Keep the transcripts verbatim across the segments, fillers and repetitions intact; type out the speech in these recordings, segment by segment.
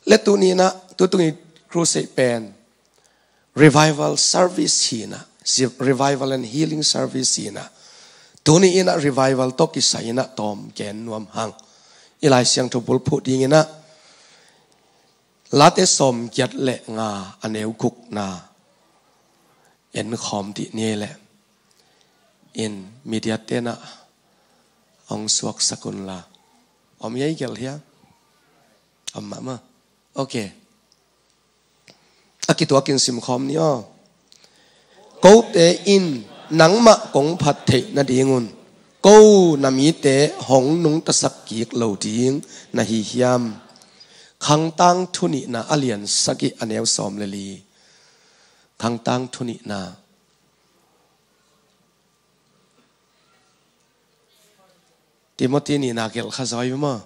Le tuni inah, tutung i crusade pen revival service hi inah, revival and healing service hi inah, tuni inah revival tawh kisai inah tawm gen nuam hang. I Lai Siangtho bulphuh ding inah Late sawmgiat le nga a neu gukna en khawm dih ni ei leh. In media tenah hong suaksak unla. Om ei gelh hia? Om mahmah. Ok. A kituakin simkhawm ni aw. Kote in nangmah kong phat theih nadingun ko na mite hong nungtasak kik lo ding na hi hiam? Khangtang thunihna a lian sagih a neu sawm le li. Khangtang thunihna. Timothy nihna gelh kha zaw hi maw?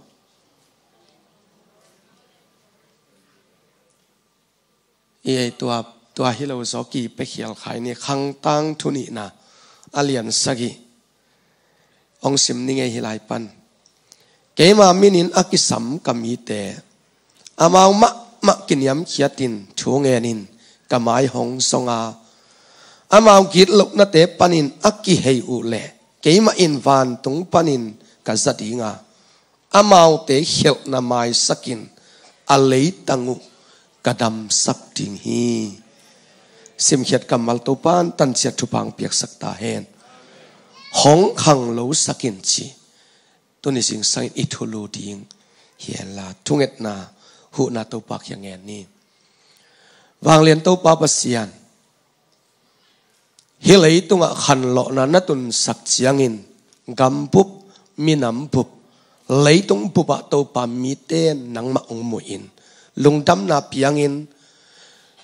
I ei tua, tua hi lo zaw kipia khial khai ni. Khangtang thunihna a lian sagih. Hong sim ning ei hi lai pan. Keima minin a kisam ka mite, amau mahmah kiniamkhiatin thu ngenin ka mai hong zong a, amau gitlohnate panin a kihei uh leh keimah in vantung panin ka za ding a, amaute khialhna maisakin a leitang uh ka damsak ding hi. Simkhiat kammal Topa'n tanciat thupha piaksak ta hen. Hong khanglosak in ci. Tuni zingsangin i thulu ding hi henla, thungetna, huhna Topa kiang ngen ni. Vanglian Topa Pasian, hih leitungah khanlawhna na tunsak ciangin, gambup, minambup, leitung bupah Topa mite nangmah hong muhin, lungdamna piangin,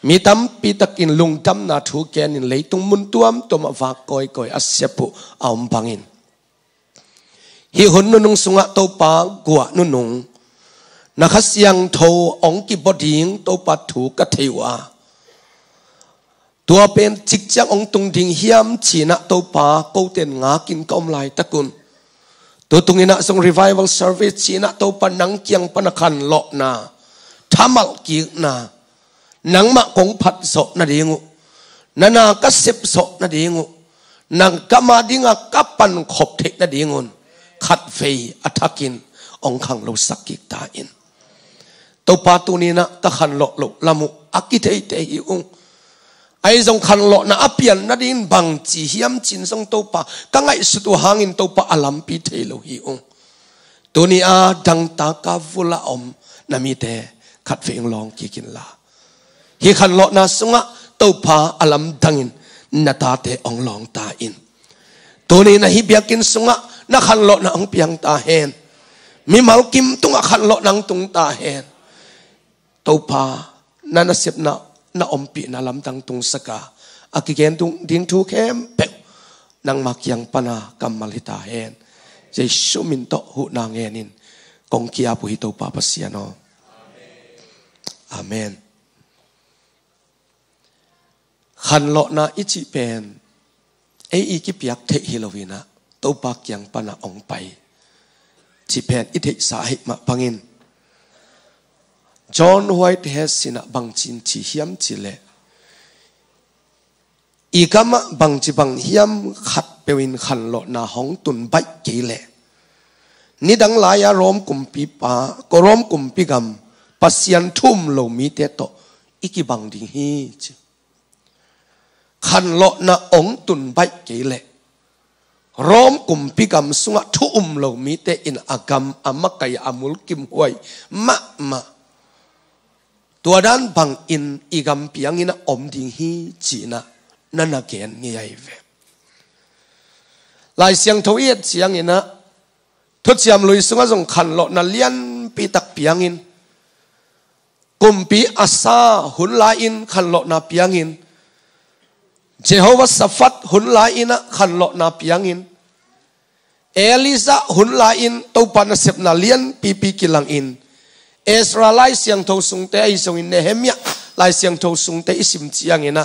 mi tampi takin lungdamna thu genin leitung mun tuamtuamah vak kawikawi a siap uh a om bangin, hih hun nunung sungah Topa guah nunung na Kha Siangtho hong kibua ding Topa thu ka thei uh a, tua pen cikciang hong tung ding hiam cinah Topa koten ngakin ka om laitakun, tutunginah zong revival service cinah Topa nang kiang pana khanlawhna thamalh kikna, nangmah kong phat zawh nading uh, na na ka sep zawh nading uh, nang ka ma dinga ka pankhop theih nadingun khatvei a thakin hong khanglosak kik ta in. Topa tuninah ka khanlawh loh lam uh a kitheithei hi ung. Ahi zong khanlawhna a pian nadingin bangci hiam cin zong Topa ka ngaihsut uh hangin Topa a lampi thei lo hi ung. Tuni a dangtaka vula om na mite khatvei hong lawng kikin la. Hih khanlawhna sungah Topa a lamdangin na tate hong lawng ta in. Tuni na hih biakinn sungah na khanlawhna hong piang ta hen. Mimal kim tungah khanlawhna hong tung ta hen. Topa na nasepna, na ompihna lamdang tungsaka a kigen ding thu khempeuh nangma kiang pana kammal hi ta hen. Jesu min tawh huhna ngenin kong ki-ap uh hi Topa Pasian aw. Amen. Khanlawhna i cih pen ei i kipiak theih hi loinah Topa kiang pana hong pai cih pen i theihsa ahih mah bangin John Whitehead sinah bangcin ci hiam cih leh, i gamah bangci bang hiam khatpeuh in khanlawhna hong tun baih kei leh, nidang lai-a Rom kumpipa, ko Rom kumpi gam Pasian thu um lo mite tawh i kibang ding hi ci. Khanlawhna hong tun baih kei leh Rom kumpi gam sungah thu um lo mite in a gam a makai a mulkimhuai mahmah. Tua dan bangin i gam piangin a om ding hi cinah na na gen ngei ahi ve. Lai Siangtho i et cianginah Thuciam Lui sungah zong khanlawhna lianpi tak piangin, kumpi Asa hun lai-in khanlawhna piangin, Jehoshaphat hun lai-inah khanlawhna piangin, Elijah hun lai-in Topa nasepna lianpipi kilangin, Ezra Lai Siangtho sungte ahi zongin Nehemiah Lai Siangtho sungte i sim cianginah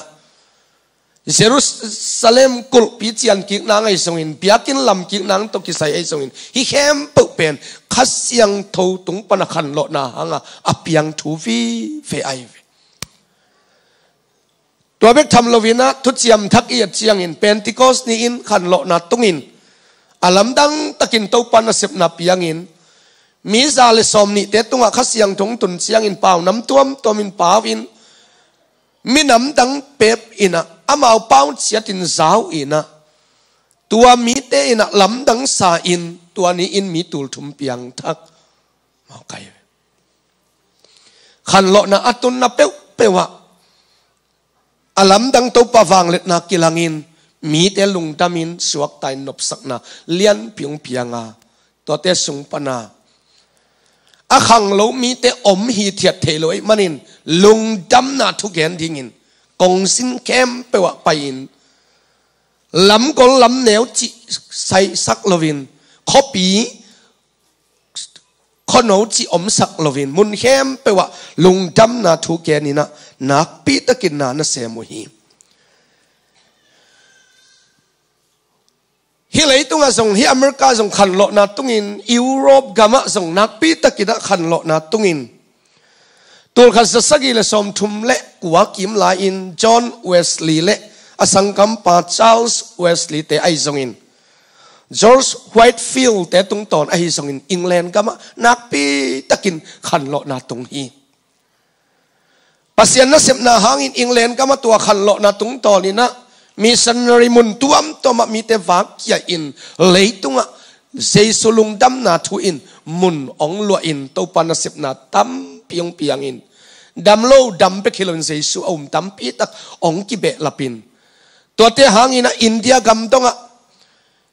Jerusalem kulhpi cian kik nang ahi zongin, biakinn lam kik nang tawh kisai ahi zongin, hih khempeuh pen Kha Siangtho tung pana khanlawhna hanga a piang thu vive ahi ve. Tua bek tham loinah Thuciam Thak i et ciangin Pentecost ni-in khanlawhna tungin a lamdang takin Topa nasepna piangin, mi za le sawm nihte tungah Kha Siangtho tun ciangin pau nam tuamtuamin pau in, minam dang pep inah amau pau ciatin zau inah, tua mite inah lamdang sa in, tua ni-in mi tulthum piangthak. Mawkai. Khanlawhna a tunna peuhpeuh ah a lamdang Topa vangliatna kilangin, mite lungdamin suakta in nopsakna lianpi hong pianga, tuate sung pana a khanglo mite om hithiat thei lo ahih manin, lungdamna thugen dingin kongsin khempeuh ah pai-in, lamgol lamneu cih saisak loin, khuapi khuano cih omsak loin, mun khempeuh ah lungdamna thu geninah nakpi takin na na sem uh hi. Hih leitungah zong, hih America zong khanlawhna tungin, Europe gamah zong nakpi takinah khanlawhna tungin, tulkhat zasagi le sawmthum le kua kim lai-in John Wesley le a sanggampa Charles Wesley te ahi zongin, George Whitefield te tungtawn ahi zongin, England gamah nakpi takin khanlawhna tung hi. Pasian nasepna hangin England gamah tua khanlawhna tungtawninah missionary mun tuamtuamah mite vakkhia in, leitungah Jesu lungdamna thu in mun hong luahin, Topa nasepna tampi hong piangin, dam lo dam bek hi loin Jesu a um tampi tak hong kibehlapin, tuate hanginah India gam dongah,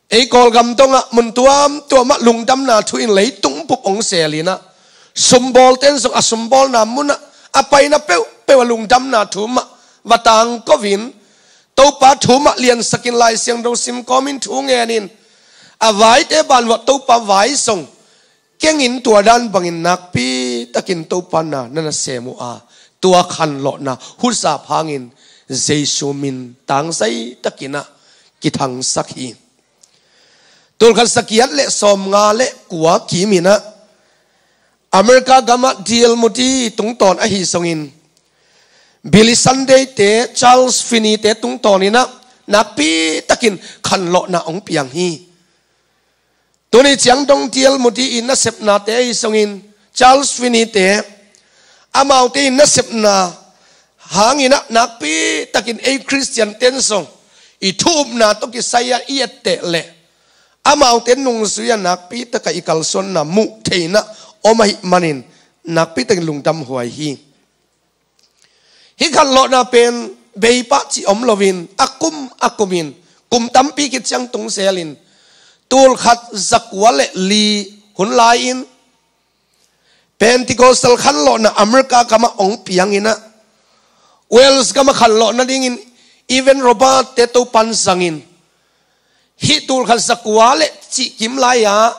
ei Kawlgam dongah mun tuamtuamah lungdamna thu in leitung bup hong selinah, sumbawlten zong a sumbawlna munah a paina peuhpeuh a lungdamna thu mah va tangkoin, Topa thu mah liansakin, Lai Siangtho sim kawmin, thu ngenin, a vaite banvuah Topa vai zong kengin, tua dan bangin nakpi takin Topa na na na sem uh a, tua khanlawhna huzap hangin Jesu min tangzai takinah kithangsak hi. Tulkhat zagiat le sawmnga le kua kiminah America gamah D L Moody tungtawn ahi zongin, Billy Sunday te, Charles Finney te tungtawninah nakpi takin khanlawhna hong piang hi. Tuni ciang dong D L Moody in nasepnate ahi zongin, Charles Finney te, amaute in nasepna hanginah nakpi takin ei Khristian ten zong i thu-upna tawh kisai-ah i etteh leh, amaute nungzui-ah nakpi takah i kalsuanna muh theinah om ahih manin, nakpi takin lungdam huai hi. Hih khanlawhna pen beipah cih om loin, a kum a kumin, kum tampi khit ciang tung zelin, tulkhat zakua le li hun lai-in Pentecostal khanlawhna America gamah hong pianginah, Wales gamah khanlawh nadingin Evan Roberts te Topan zangin, hih tulkhat zakua le cih kim lai-ah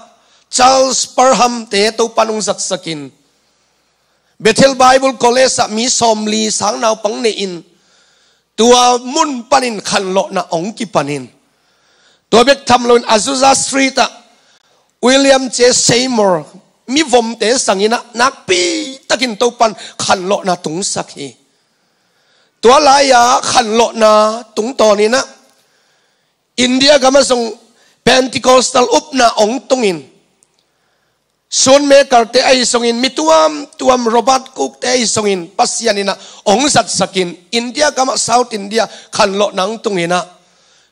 Charles Parham te Topan hong zatsakin, Bethel Bible College ah mi sawmli sang naupang nei-in, tua mun panin khanlawhna hong kipanin, tua bek tham loin Azusa Street ah William J Seymour mivomte sanginah nakpi takin Topan khanlawhna tungsak hi. Tua lai-a khanlawhna tungtawninah India gamah zong Pentecostal upna hong tungin, Sunmaker te ahi zongin, mi tuamtuam, Robert Cook te ahi zongin, Pasian inah hong zatsakin, India gamah South India khanlawhna hong tunginah,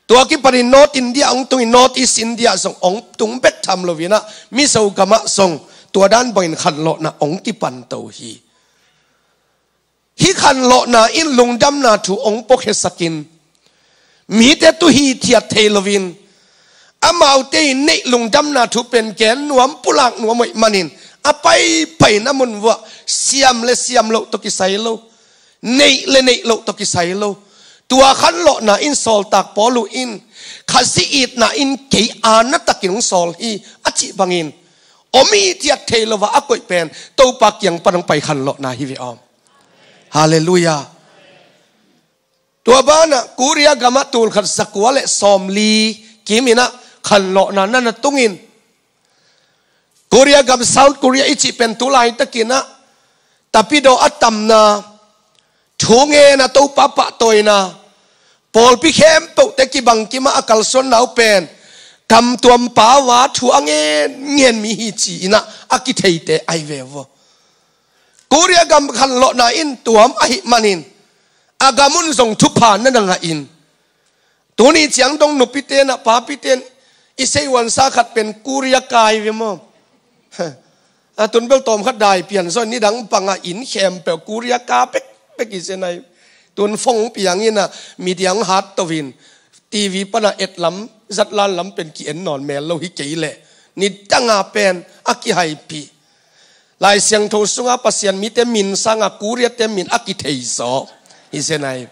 tua kipanin North India hong tungin, North East India zong hong tung bek tham loinah, Mizo gamah zong tua dan bangin khanlawhna hong kipanto hi. Hih khanlawhna in lungdamna thu hong puakhiasakin, mite tu hithiat thei loin, amaute in neih lungdamna thu pen gen nuam, pulak nuam ahih manin, a paipaina mun vuah siam le siam loh tawh kisai lo, neih le neih loh tawh kisai lo. Tua khanlawhna in sawltak Paul uh in, Khazih itna in kei aana takin hong sawl hi, a cih bangin, om hithiat thei lo-a a koih pen Topa kiang pan hong pai khanlawhna hi ve aw. Halleluiah. Tua banah Korea gamah tulkhat zakua le sawmli kiminah khanlawhna na na tungin, Korea gam, South Korea i cih pen tu laitakinah tapidaw a tamna, thu ngenna, Topa pahtawina, pawlpi khempeuhte kibang kimah a kalsuanna uh pen kamtuam pau-a thu a ngen ngen mi hi ci-inah a kitheite ahi ve uh. Korea gam khanlawhna in tuam ahih manin a gam un zong thupha na na ngahin, tuni ciang dong nupite na papite in i seihuansa khat pen Korea kai ve maw? A tun bel tawm khat dai pian zaw, nidang panga inn khempeuh Korea ka pekpek hi zen ai. Tun phone piangin a, media hong hat toin, TV pana et lam, zatlan lam pen ki-en nawn mel lo hi kei leh, nidanga pen a kihaipih. Lai Siangtho sunga Pasian mite min sanga Korea-te min a kithei zaw hi zen ai.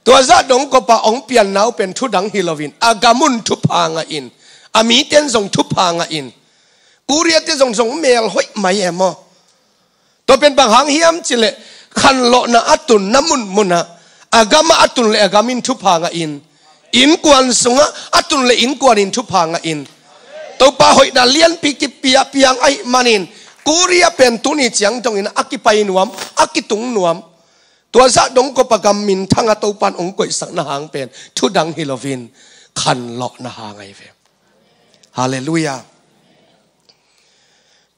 Tua zah dong kopa hong pianna uh pen thudang hi loin a gam un thupha ngahin, a mite in zong thupha ngahin, Korea-te zong zong mel hoih mai e maw? Tua pen bang hang hiam cileh, khanlawhna a tunna munmunah a gamah a tun le a gam in thupha ngahin, innkuan sungah a tun le innkuan in thupha ngahin, Topa hoihna lianpi kipia piang ahih manin, Korea pen tuni ciang dongin a kipai nuam, a kitung nuam. Tua zah dong kopa gam minthanga Topan hong koihsakna hang pen thudang hi loin khanlawhna hang ahi ve. Halleluiah.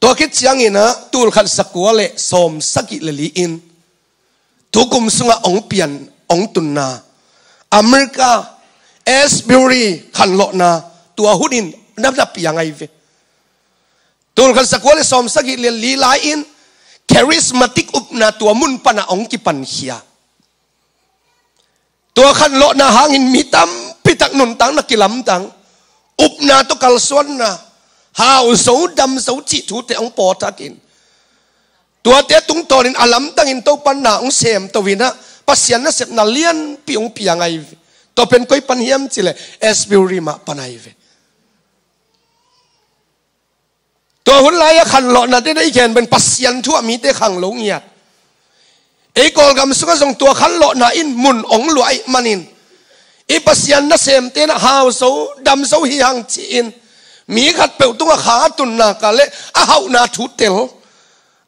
Tua khit cianginah tulkhat zakua le sawmsagih le li in tukum sungah hong pian, hong tunna America, Asbury khanlawhna tua hunin na na piang ahi ve. Tulkhat zakua le sawmsagih le li lai-in charismatic upna tua mun panah hong kipankhia. Tua khanlawhna hangin mi tampitak nuntakna kilamdang, upna tawh kalsuanna, hau zo dam zo cih thute hong pawthakin, tuate tungtawnin a lamdangin Topan na hong sem toinah Pasian nasepna lianpi hong piang ahi ve. Tua pen koi pan hiam cileh, Asbury mah pan ahi ve. Tua hun lai-a khanlawhna te na i gen pen Pasian thu-ah mite khang lo ngiat. Ei Kawlgam sungah zong tua khanlawhna in mun hong luah ahih manin, i Pasian nasemte na hau zo dam zo hi hang ci-in, mi khatpeuh tungah kha a tunna ka le a hauhna thu tel,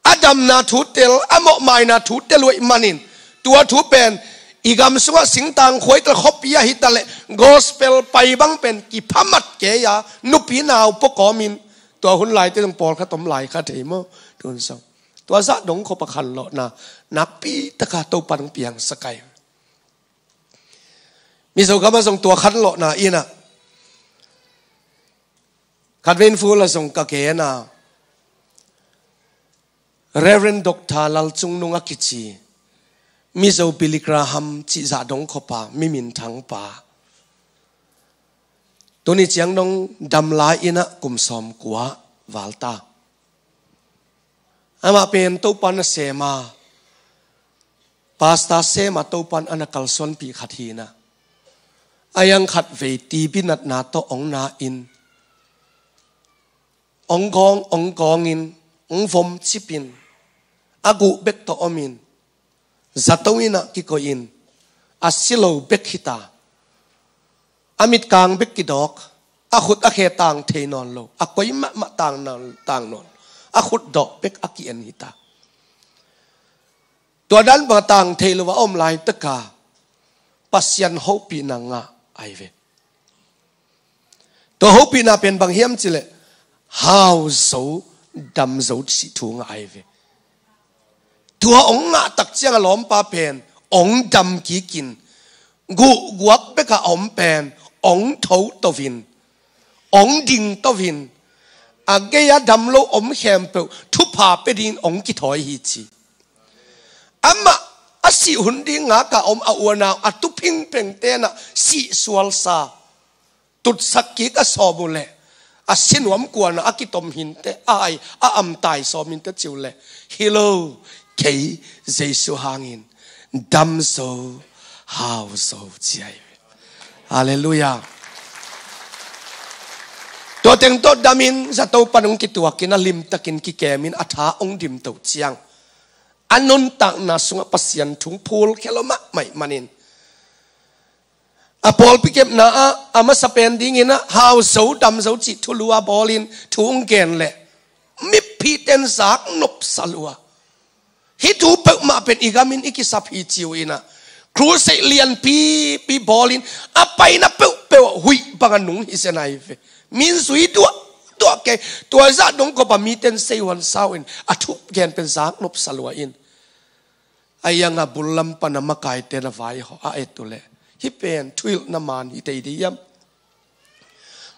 a damna thu tel, a mawhmaina thu tel uh ahih manin, tua thu pen i gam sungah singtang khuai ta le, khuapi ahi ta le, gospel pai bang pen kiphamat kei a, nupi nau pua kawmin, tua hun laite zong pawlkhat om lai kha thei maw? Tun zong tua zah dong kopa khanlawhna nakpitaka Topan hong piangsak ai. Mizo gamah zong tua khanlawhna inah khatvei in ful a zong ka gen a, Reverend Doctor Lalcungnung a kici, Mizo Billy Graham cih zah dong kopa, mi minthangpa, tuni ciang dong dam lai-inah kum sawmkua val ta. Amah pen Topan a sem a, pastor sem a, Topan a na kalsuanpih khat hi-inah, a yang khatvei TB natna tawh hong na-in, hong gawng, hong gawngin, hong vom cipin, a guh bek tawh omin, zato innah kikoihin, a si lo bek hita, a mitkang bek kidawk, a khut a khe tang thei nawn lo, a koi mahmah tang nawn, tang nawn, a khutdawh bek a ki-en hita. Tua dan bang a tang thei lo a om laitaka Pasian hopihna ngah ahi ve. Tua hopihna pen bang hiam cileh, hau zo dam zo cih thu ngah ahi ve. Tua hong ngah tak ciang a lawmpa pen hong dam kikin, guhguak beka om pen hong tho toin, hong ding toin, a gei-a dam lo om khempeuh thupha pia dingin hong kithawi hi ci. Amah a sih hun ding ngaka om a unau a tuphingpheng tenah sih sualsa, tutsak kik a sawm uh leh, a sinuam kuanah a kitom hinte, a hai a amtai sawm hinte ci uh leh, hi lo, kei Jesu hangin dam zo, hau zo ci ahi ve. Halleluiah. Tua teng tawh damin zato pan hong kituakin, a limtakin kikemin, a tha hong dimtoh ciang, a nuntakna sungah Pasian thu phulkhia lo mahmah ahih manin, A pawlpi kepna ah a masa pen dingin ah hau zo dam zo cih thulu a bawlin thu hong gen leh miphite in zak nopsa lua. Hih thu peuhmah pen i gamin i kisap hi ci uh in ah, crusade lianpipi bawlin a paina peuhpeuh ah huih bang a nung hi zen ahi ve. Min zui duahduah kei. Tua zah dong kawpa mite in seihuan sau in a thugen pen zak nopsa lua in. A iang a bul lam pan a makaite na vaihawh a et uh leh hih pen thuhilhna man hi tei dih hiam?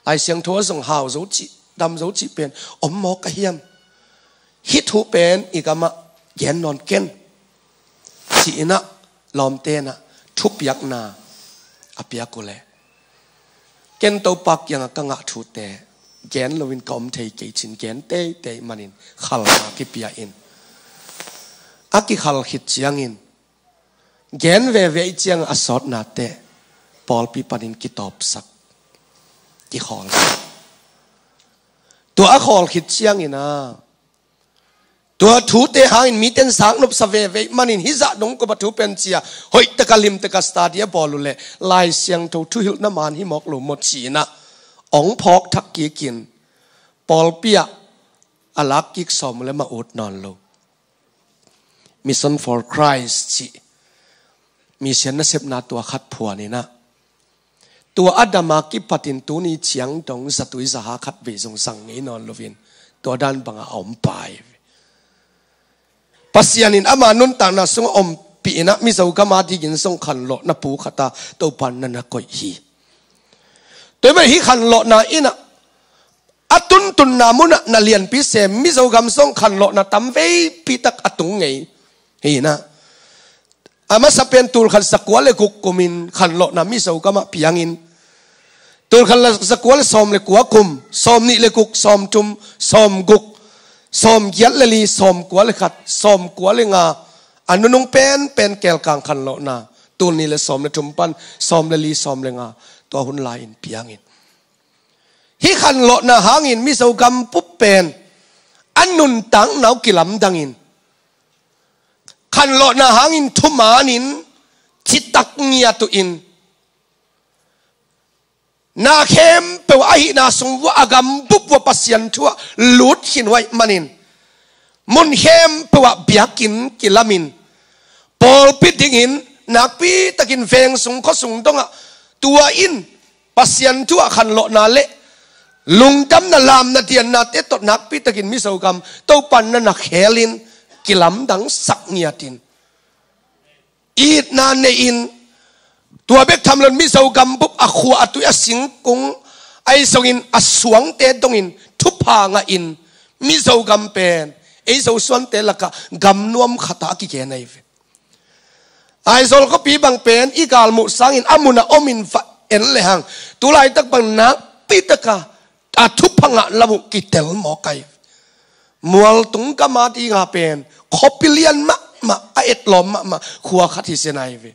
Lai Siangtho ah zong hau zo cih, dam zo cih pen om mawk a hiam? Hih thu pen i gamah gen nawn ken, ci-in ah lawmte in ah thupiakna a piak uh leh, ken Topa kiangah ka ngah thute gen loin ka om thei kei cin gen teitei manin khalna kipia in, a kikhal khit ciangin gen veve ih ciang a sawtnate pawlpi panin kitawpsak, kikhawl. Tua a khawl khit ciangin ah tua thute hangin mite in zak nopsa veve ih manin hih zah dong kawpa thu pen cia hoih taka lim taka study a bawl uh leh Lai Siangtho thuhilhna man hi mawk lo maw ci-in ah ong phawk thak kikin pawlpi ah a lak kik sawm uh leh mah ut nawn lo. Mission for Christ cih mission nasepna tua khat phuan in ah, tua a dam a kipatin tuni ciang dong zatui zaha khat vei zong zang ngei nawn loin tua dan bangah a om pai. Pasian in ama nuntakna sungah ompih in ah Mizo gam a dingin zong khanlawhna pu khat a Topa in na na koih hi. Tua ahih manin hih khanlawhna in ah a tuntunna munah na lianpi sem, Mizo gam zong khanlawhna tam veipi tak a tung ngei hi in ah. A masa pen tul khat zakua le guk kumin khanlawhna Mizo gamah piangin, tul khat zakua le sawm le kua kum, sawm nih le guk, sawm thum, sawm guk, sawm giat le li, sawm kua le khat, sawm kua le nga, a nunung penpen kelkang khanlawhna tul nih le sawm le thum pan sawm le li, sawm le nga, tua hun lai-in piangin, hih khanlawhna hangin Mizo gam bup pen a nuntakna uh kilamdangin, khanlawhna hangin thumanin citak ngiat uh in, na khempeuh ahihna sung uah a gam bup uah Pasian thu ah lut khin uh ahih manin, mun khempeuh ah biakinn kilamin, pawlpi dingin nakpitakin veng sung khua sung dongah tua in Pasian thu ah khanlawhna le lungdamna, lamna, diannate tawh nakpitakin Mizo gam Topa in na na khelin kilamdangsak ngiatin, itna nei-in, tua bek tham loin Mizo gam bup a khua, a tui, a singkung, ahi zongin a suangte dongin thupha ngahin Mizo gam pen ei Zosuante lakah gam nuam khat ah a kigen ahi ve. Aizawl khuapi bang pen i galmuh sangin a mun a omin va en lehang, tulaitak bang nakpitaka a thupha ngah lam uh kitel mawk ahi ve. Mualtung gam a dinga pen khuapi lian mahmah, a etlawm mahmah khua khat hi zen ahi ve.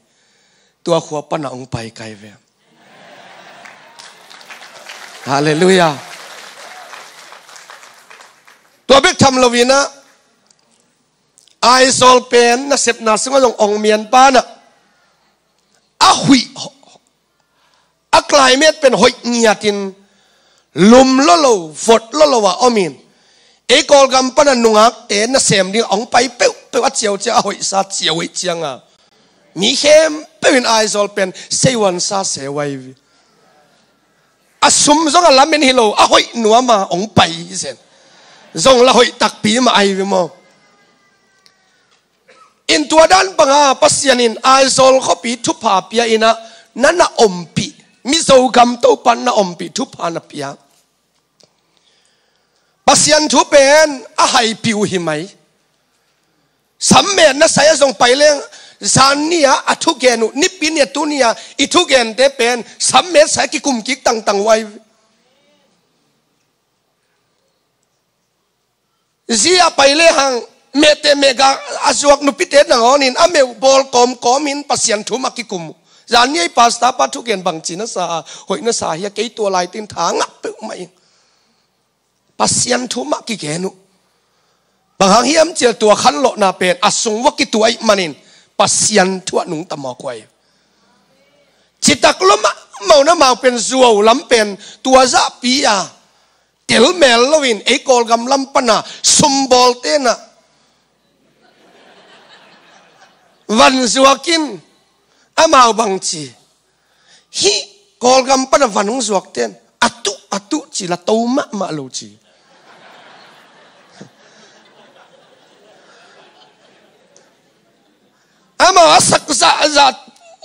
Tua khua pana hong pai ka hi ve. Halleluiah. Tua bek tham loin ah Aizawl pen nasepna sungah zong ong mian pan ah a huih, a climate pen hoih ngiatin lum lua lo, vot lua lo a omin, ei Kawlgam pana nungakte nasem ding a hong pai peuhpeuh a ciauciau, a hoihsa ciau hoih cianga mi khempeuh in Aizawl pen seihuansa seu ahi ve. A sum zong a lamen hi lo, a hoih nuama hong pai hi zen. Zong la hoih takpi mah ahi ve maw? In tua dan banga Pasian in Aizawl khuapi thupha pia in ah, na na ompih, Mizo gam Topa in na ompih thupha na pia. Pasian thu pen a haipih uh hi mai. Sammet na sai a zong pai leng, zan ni-a a thugen uh, nipi ni-a tuni-a i thugente pen sammet sai a kikum kik tangtang uh ahi. Zia pai lehang mehte mehga a zuak nupite nangawnin a meuh bawl kawmkawmin Pasian thu mah kikum uh. Zan ni-a i pastor pa thugen bangci na sa a, hoih na sa hia, kei tua laitin tha ngah peuhmah ing. Pasian thu mah kigen uh. Bang hang hiam cihleh tua khanlawhna pen a sung uah kitu ahih manin Pasian thu ah nungta mawk uh ahi. Citak lua mah Amau na mau pen zuau lam pen tua zahpi a tel mel loin ei Kawlgam lam pana sumbawlte na van zuakin amau bang ci. Hih Kawlgam pana van hong zuakten a tuh a tuh ci la to mahmah lo ci. Amau a sak zahzah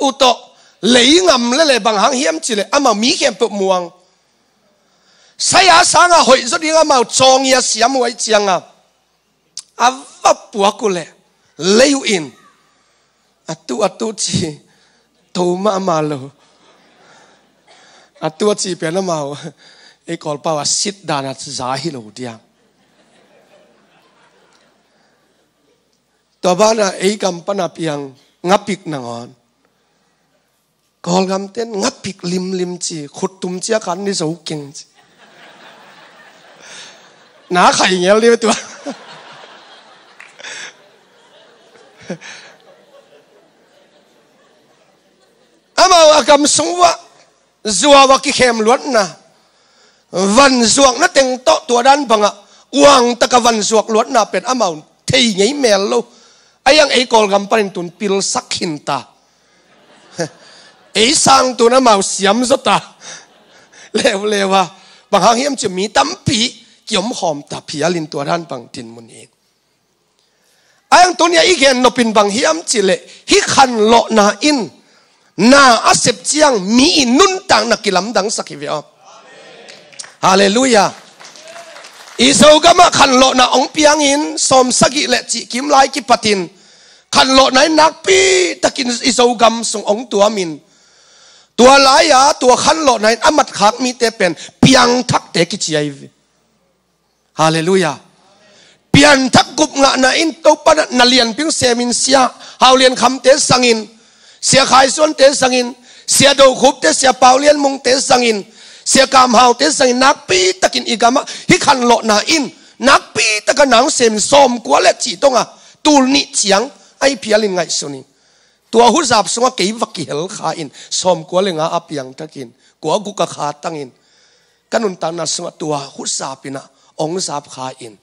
uh tawh lei ngam lele bang hang hiam cileh amau mi khempeuh muang. Saya sanga hoih zaw ding amau cawng ia siam uh aih cianga a va puak uh leh lei uh in a tuh a tuh ci to mahmah lo. A tuh a ci pen amau ei Kawlpau a sit dan a za hi lo diam. Tua bana ei gam pana piang ngapik nangawn Kawlgamten ngapik limlim ci, khuttum cia khan ni zo keng ci. Na khai ngel dih tua. Amau a gam sung uah zuau a kikhem luatna van zuakna teng tawh tua dan bangah uang taka van zuak luatna pen amau thei ngei mel lo. Aiang ei Kawlgam panin tun pilsak khinta. Ei sang tun amau siam zawta. Leuleu a bang hang hiam ci mi tampi kiomkhawm ta phialin tua dan bang dinmun hi. Aiang tunia i gen nopin bang hiam cileh hih khanlawhna in na a sep ciang mi i nuntakna kilamdangsak hi ve aw. Halleluiah. I Zogamah khanlawhna ong piangin sawmsagih le cihkim lai kipatin khanlawhna in nakpi takin i Zogam sung ong tuamin tua lai-a tua khanlawhna in a matkhak mite pen piangthakte kici ahi ve. Halleluiah. Pianthak gupngahna in Topa na lianpi hong semin sia Haulian Khamte zangin, sia Khai Suante zangin, sia Do Khupte, sia Pau Lian Mungte zangin, sia Kam Haute zangin nakpi takin i gamah hih khanlawhna in nakpi taka nang semin sawmkua le cih tonga tul nih ciang ahi phialin ngaihsun in. Tua huzap sungah kei va kihel kha in sawmkua le nga a piangthakin kua guk a kha tangin ka nuntakna sungah tua huzap inah ong zap kha in.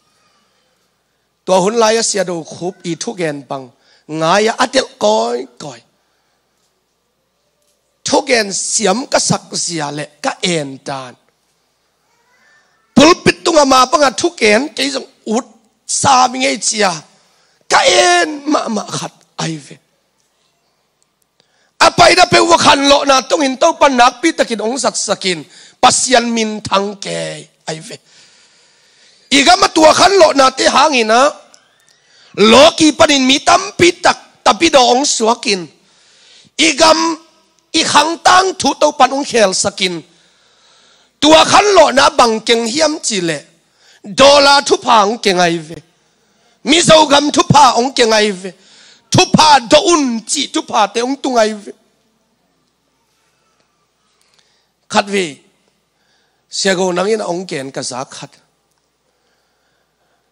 Tua hun lai-a sia Do Khup i thugen bang ngai-a a delh kawikawi. Thugen siam ka sakzia le ka en dan pulpit tungah mah bangah thugen kei zong ut sam i ngei cia ka en mahmah khat ahi ve. A paina peuh va khanlawhna tungin Topa nakpi takin ong zatsakin Pasian minthang kei ahi ve. I gam a tua khanlawhnate hanginah lawki panin mi tampi tak tapidaw ong suakin i gam i khangtang thu Topan ong khelsakin tua khanlawhna bang keng hiam cihleh dollar thupha ong keng ahi ve. Mizo gam thupha ong keng ahi ve. Thupha dawh un cih thuphate ong tung ahi ve. Khatvei siago nangin a ong gen ka za khat.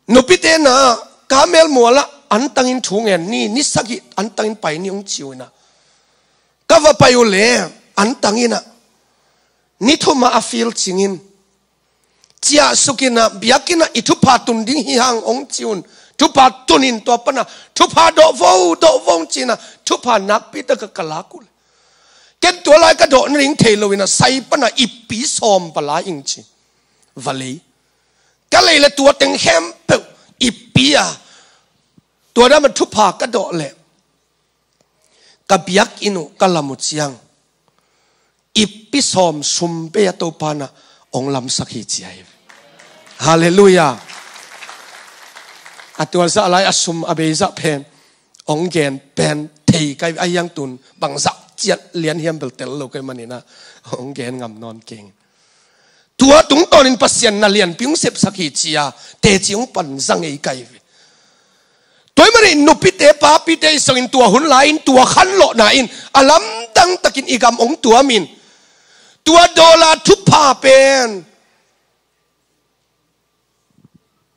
Nupite na ka melmualah antangin thu ngen ni, ni sagih antangin pai ni ong ciu inah ka va pai uh le antanginah ni thumah a fil cingin ciahsukinah biakinnah i thupha tun ding hi hang ong ci un. Thupha tunin tua panah thupha dawhvo dawhvo ong cinah thupha nakpi taka ka lak uh le ken tua lai ka dawh nading thei loinah sai panah ippi sawm va la ing ci. Va lei ka lei le tua teng khempeuh ippi a tua dama thupha ka dawh le ka biakinn uh ka lam uh ciang ippi sawm sum bei a Topanah ong lamsak hi ci ahi. Halleluiah. A tua zah lai a sum a bei zah pen ong gen pen thei kai a hiang tun bangzah ciat lian hiam bel tel lo kai maninah ong gen ngam nawn keng. Tua tungtawnin Pasian na lianpi ong sepsak hi cia teci ong panza ngei kai ve. Tua hi manin nupite papite i songin tua hun lai-in tua khanlawhna in a lamdang takin i gam ong tuamin tua dollar thupha pen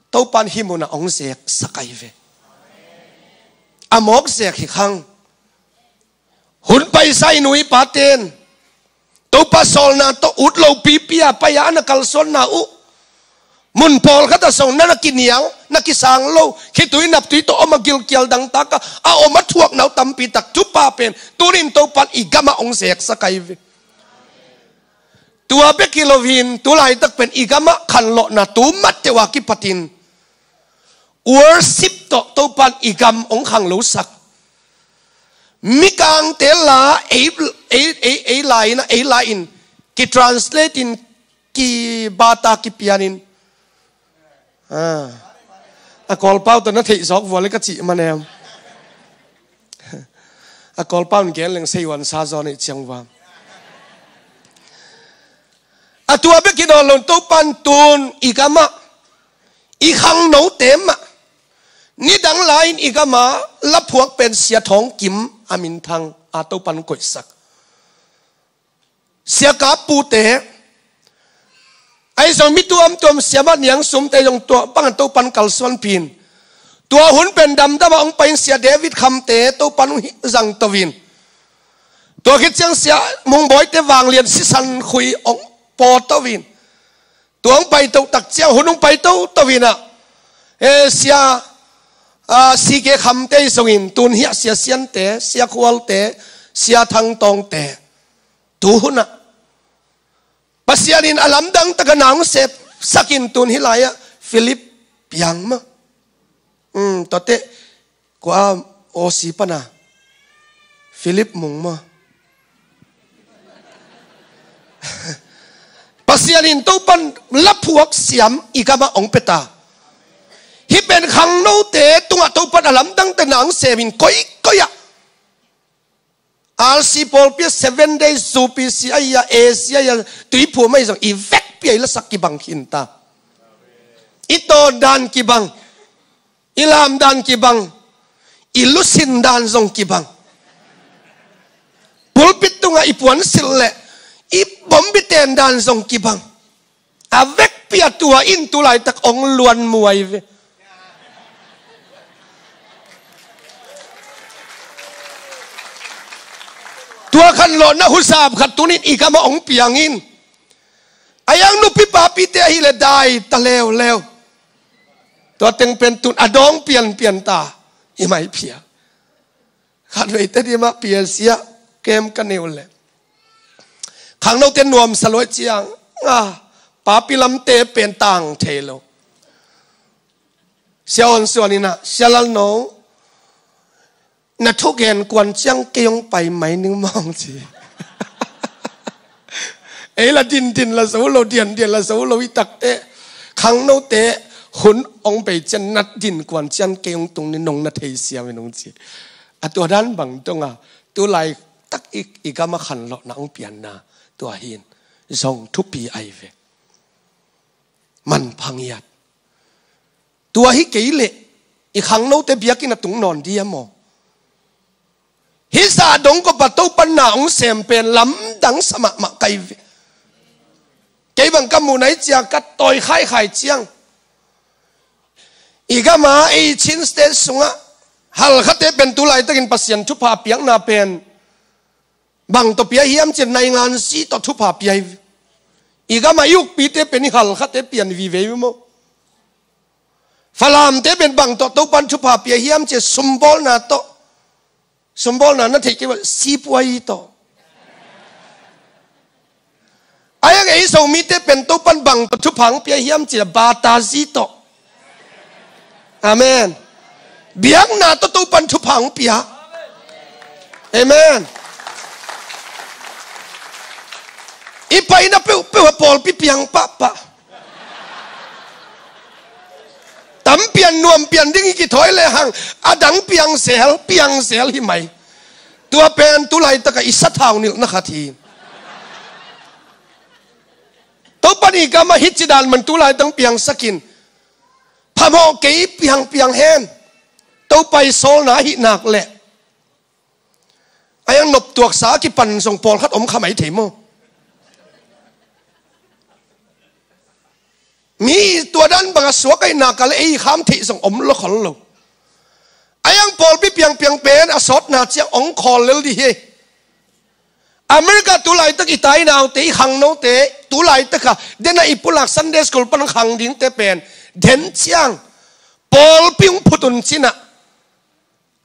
Topan hih munah ong zeksak ahi ve. A mawk zek hi khang. Hun paisa i nu i paten Topa sawlna tawh ut lo pipi a pai a na kalsuanna uh, mun pawlkhat ah zong na na kinial, na kisang lo, khitui naptui tawh om a, gilkial dangtak a a om a thuakna uh tampi tak thupha pen tunin Topan i gamah hong zeksak ahi ve. Tua bek hi loin tu laitak pen i gamah khanlawhna tu matteuh a kipatin worship tawh Topan i gam hong khanglosak. Mikangte la ei, ei, ei, ei la in a, ei la in kitranslate in, kibata kipianin. Ah. A Kawlpau tawh na theih zawk vua le ka cih manem. A Kawlpau in gen leng seihuan sa zaw neih ciang vua. A tua bek hi nawn lo, Topan tun i gamah, i khangnote mah, nidang lai-in i gamah laphuak pen Sia Thawng Kim a minthang a Topan koihsak. Sia Kap Pu te, ahi zong mi tuamtuam, Sia Mat Niang Sum te zong tua bangah Topan kalsuanpih in. Tua hun pen damdam a hong pai in Sia David Kham te Topan hong zangto in. Tua khit ciang Sia Mung Bawi te vanglian sisan khui hong pawto in. Tua hong paito tak ciang, hun hong paito to in ah, eh, Sia, ah, C K Kham te zong in, tun hiah Sia Sian te, Sia Khual te, Sia Thang Tawng te. Tu hun ah Pasian in a lamdang tak a na hong sepsak in, tun hih lai-ah Philip Piang maw. Hmm, tua teh kua O C pan a Philip Mung maw. Pasian in Topan laphuak siam i gamah hong pia ta. Hih pen khangnote tungah Topan a lamdang tak a na hong sem in, koikoi ah, R C pawlpi ah, Seven Days, U P C ahi a, A C ahi a, tuiphum ahi zong i vekpi a i lasak kibang khin ta. I tawn dan kibang, i lam dan kibang, i lusin dan zong kibang. Pulpit tungah i puansilh leh i bombi ten dan zong kibang. A vekpi a tua in tu laitak hong luan muai ve. Tua khanlawhna huzap khat tunin i gamah hong piang in. A yang nupi papite ahih leh dai ta leuleu. Tua teng pen tun a dawng pianpian ta, i maiphia. Khatvei Tedim ah P L C ah kem ka nei uh leh, khangnote nuamsa luai ciang, ah, papi lamte pen tang thei lo. Sia Awn Suan in ah, Sia Lal No, na thugen kuan ciang kei hong pai mai ning maw, hong ci. Ei la dindin la zo lo, diandian la zo lo i tak teh, khangnote hun hong bei ciang na din kuan ciang kei hong tung ni, nong na thei siam in, hong ci. A tua dan bang dong a, tu laitak i, i gamah khanlawhna hong pianna, tua hi in zong thupi ahi ve. Manpha ngiat. Tua hi kei leh i khangnote biakinn ah tung nawn dia maw? Hih zah dong kawpa Topan na hong sem pen lamdang sa mahmah ka hi ve. Kei bang ka muh nai ciang ka tawi khaikhai ciang, i gam a, ei Chin State sungah halkhate pen tu laitakin Pasian thupha piakna pen bang tawh pia hiam cih leh naingan zi tawh thupha pia hi. I gam a i ukpite pen i halkhate pian vive hi maw? Falamte pen bang tawh Topan thupha pia hiam cih leh sumbawlna tawh. Sumbawlna na theih kei uh a, sipuai tawh. A yang ei Zomite pen Topan bang tawh thupha hong pia hiam cih leh bata zi tawh. Amen. Biakna tawh Topan thupha hong pia. Amen. I paina peuhpeuh a pawlpi piang pahpah. Tam pian nuam pian ding i kithawi lehang, a dang piang zel, piang zel hi mai. Tua pen tu laitak a i sathau nilhna khat hi. Topan i gam a hih ci dan man tu laitak piangsak in. Phamawh kei, piangpiang hen. Topa i sawlna ahih nak leh, a yang noptuaksa a kipan zong pawlkhat om kha mai thei maw? Mi tua dan bang a suak ahih nak leh ei kham theih zong om lo khol lo. A yang pawlpi piangpiang pen a sawtna ciang hong khawl lel dih hi. America tulaitak i tainaute, i khangnote, tulaitak a dena i pulak Sunday school pan khang dingte pen den ciang pawlpi hong phut un cinah,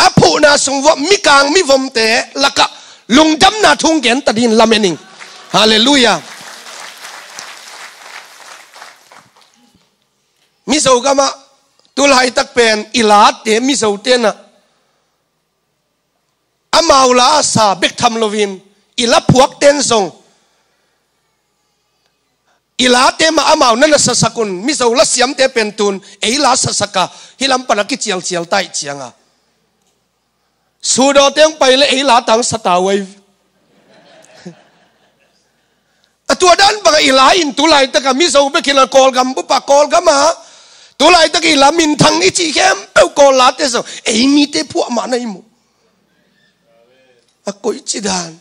a phuhna sung vuah mikang mivomte lakah lungdamna thu hong genta dingin lamen ing. Halleluiah. Mizo gamah tulaitak pen i late, Mizo tenah amau la a sa bek tham loin i la phuakten zong i late mah amau na na sasak un, Mizo la siamte pen tun ei la sasak a, hih lam pana kicialcial taih cianga Sudawte hong pai le ei la tang sa ta uh ei. A tua dan banga i la in tulaitak a Mizo bek hi lo, Kawlgam bupa Kawlgam a tulaitak i la minthang i cih khempeuh Kawl late zong ei mite phuah mah na i mu. A koici dan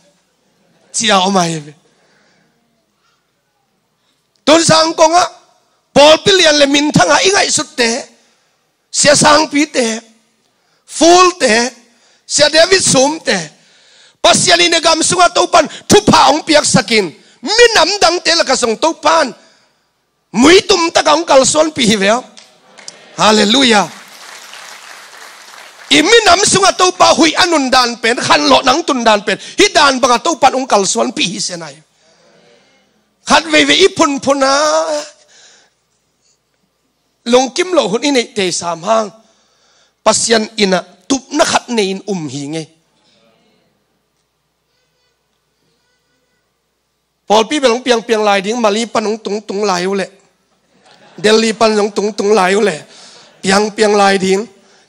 cia om ai ve. Tun Zangkong ah pawlpi lian le minthang a i ngaihsutte, Sia Sangpite, Fulte, Sia David Sumte, Pasian in a gam sungah Topan thupha hong piaksakin, minam dangte lakah zong Topan muitum takah hong kalsuanpih hi ve aw. Halleluiah. I minam sungah Topa huih a nundan pen, khanlawh nang tundan pen hih dan bangah Topan hong kalsuanpih hi senai. Khat veivei i phunphun a lungkim loh hun i neih tei sam hang Pasian innah tupna khat nei-in um hi ngei. Pawlpi bel hong piangpiang lai ding, Mali pan hong tungtung lai uh leh, Delhi pan hong tungtung lai uh leh, piangpiang lai ding.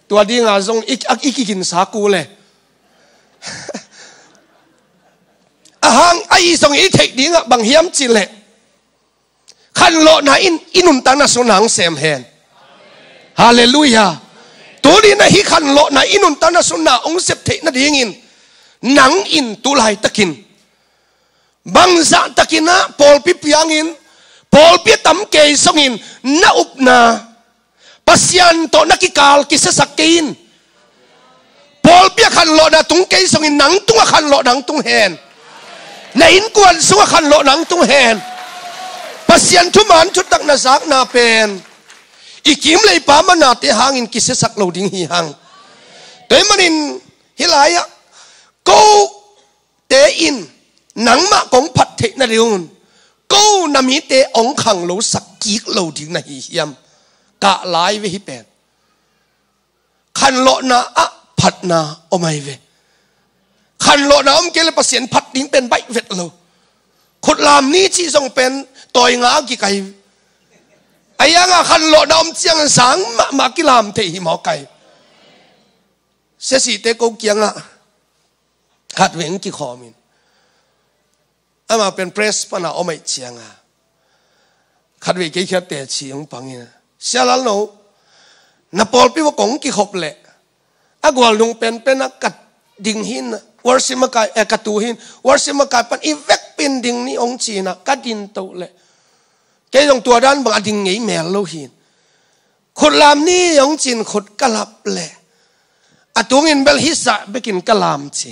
Tua dinga zong i, i kiginsa ku leh. Ahang a i zong i theih dingah bang hiam cih leh, khanlawhna in i nuntakna sung na hong sem hen. Halleluiah. Tuni na hih khanlawhna i nuntakna sung na hong sep theih nadingin nang in tulaitakin bangzahtakin ah pawlpi piangin, pawlpi a tam kei zongin na upna Pasian tawh na kikal kisiasak kei in. Pawlpi a khanlawhna tung kei zongin nang tungah khanlawhna hong tung hen. Na innkuan sungah khanlawhna hong tung hen. Pasian thuman thutak na zakna pen i kim leipa manate hangin kisiasak lo ding hi hang. Tua ahih manin hih lai-ah ko te in nangmah kong phat theih nadingun ko na mite hong khanglosak kik lo ding na hi hiam? Kah lai ve hih pen. Khanlawhna ah phatna om ai ve. Khanlawhna om kei le Pasian phat ding pen baih vet lo. Khutlam ni cih zong pen tawi nga a kikai. A ianga khanlawhna om ciang zang mahmah kilam thei hi mawk ai. Sesite ko kiangah khatvei hong kikhawmin, amah pen press pana om aih cianga khatvei kei khiatte ci hong pangin, Sia Lalno, na pawlpi va kong kikhop leh a gualnung penpen ah ka ding hin, worship makai, eh, ka tu hin, worship makai pan i vekpin ding ni hong cinah ka din toh leh kei zong tua dan bang a ding ngei mel lo hin. Khutlam ni hong cin khut ka lap leh a tungin bel hisa bekin ka lam ci.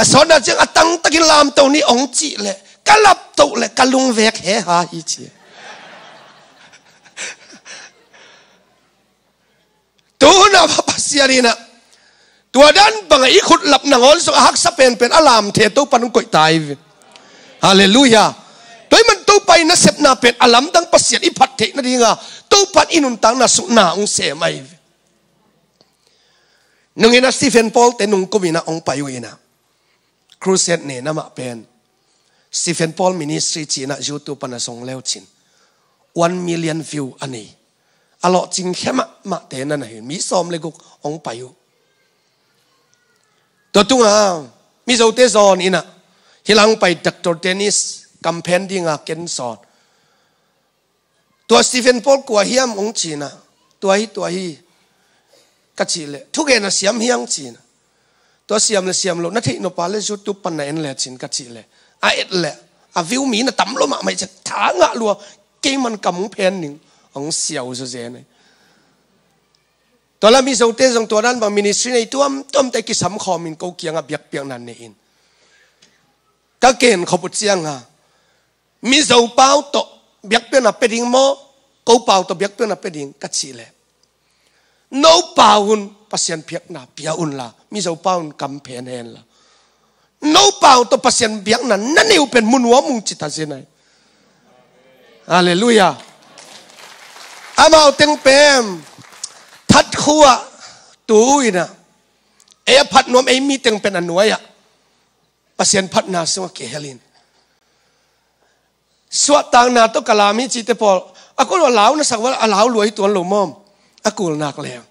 A sawtna ciang a tangtakin lamto ni hong cih leh ka laptoh leh ka lungvek heha hi ci. Tuhuna Pasian inah tua dan bangah i khutlap nangawn zong a haksa penpen a lamthe Topan hong koih ta ai ve. Halleluiah. Tua ahih man Topa i nasepna pen a lamdang Pasian i phat theih nadinga Topan i nuntakna sukna hong sem ai ve. Nungin a Stephen Paul te nungkum inah hong pai uh inah crusade ne namah pen Stephen Paul Ministry cinah YouTube pana zong leu cin one million view a nei. A lawhcing khemah mahte na na hin mi sawm le guk hong pai uh. Tua tunga Mizote zawn inah hilang pai Doctor Dennis kamphen dinga ken zawn. Tua Stephen Paul kua hiam hong cinah, tua hi, tua hi ka cih leh, thugen a siam hiang cinah. Tua siam le siam lo na theih nop a le YouTube pan na en le cin ka cih leh, a et leh a view mi na tam lo mahmah i cek tha ngah lua, keiman kam hong phen ning hong siau zazen ai. Tua la Mizote zong tua dan bang ministry nei tuamtuamte kisam khawmin ko kiangah biakpiakna nei in. a ken khop uh cianga, Mizo pau tawh biakpiakna pia ding maw, ko pau tawh biakpiakna pia ding ka cih leh, no pau un Pasian biakna pia unla, Mizo pau un kam phen henla, no pau tawh Pasian biakna na nei uh pen mu nuam ung ci ta zen ai. Halleluiah. Amau teng pen phat khua tu inah, ei a phat nuam ei mi teng pen a nuai-ah Pasian phatna sungah kihelin, suahtakna tawh ka lam hi cite pawl, a kul a lau na sak val a lau luai tuan lo mawm, a kul nak leng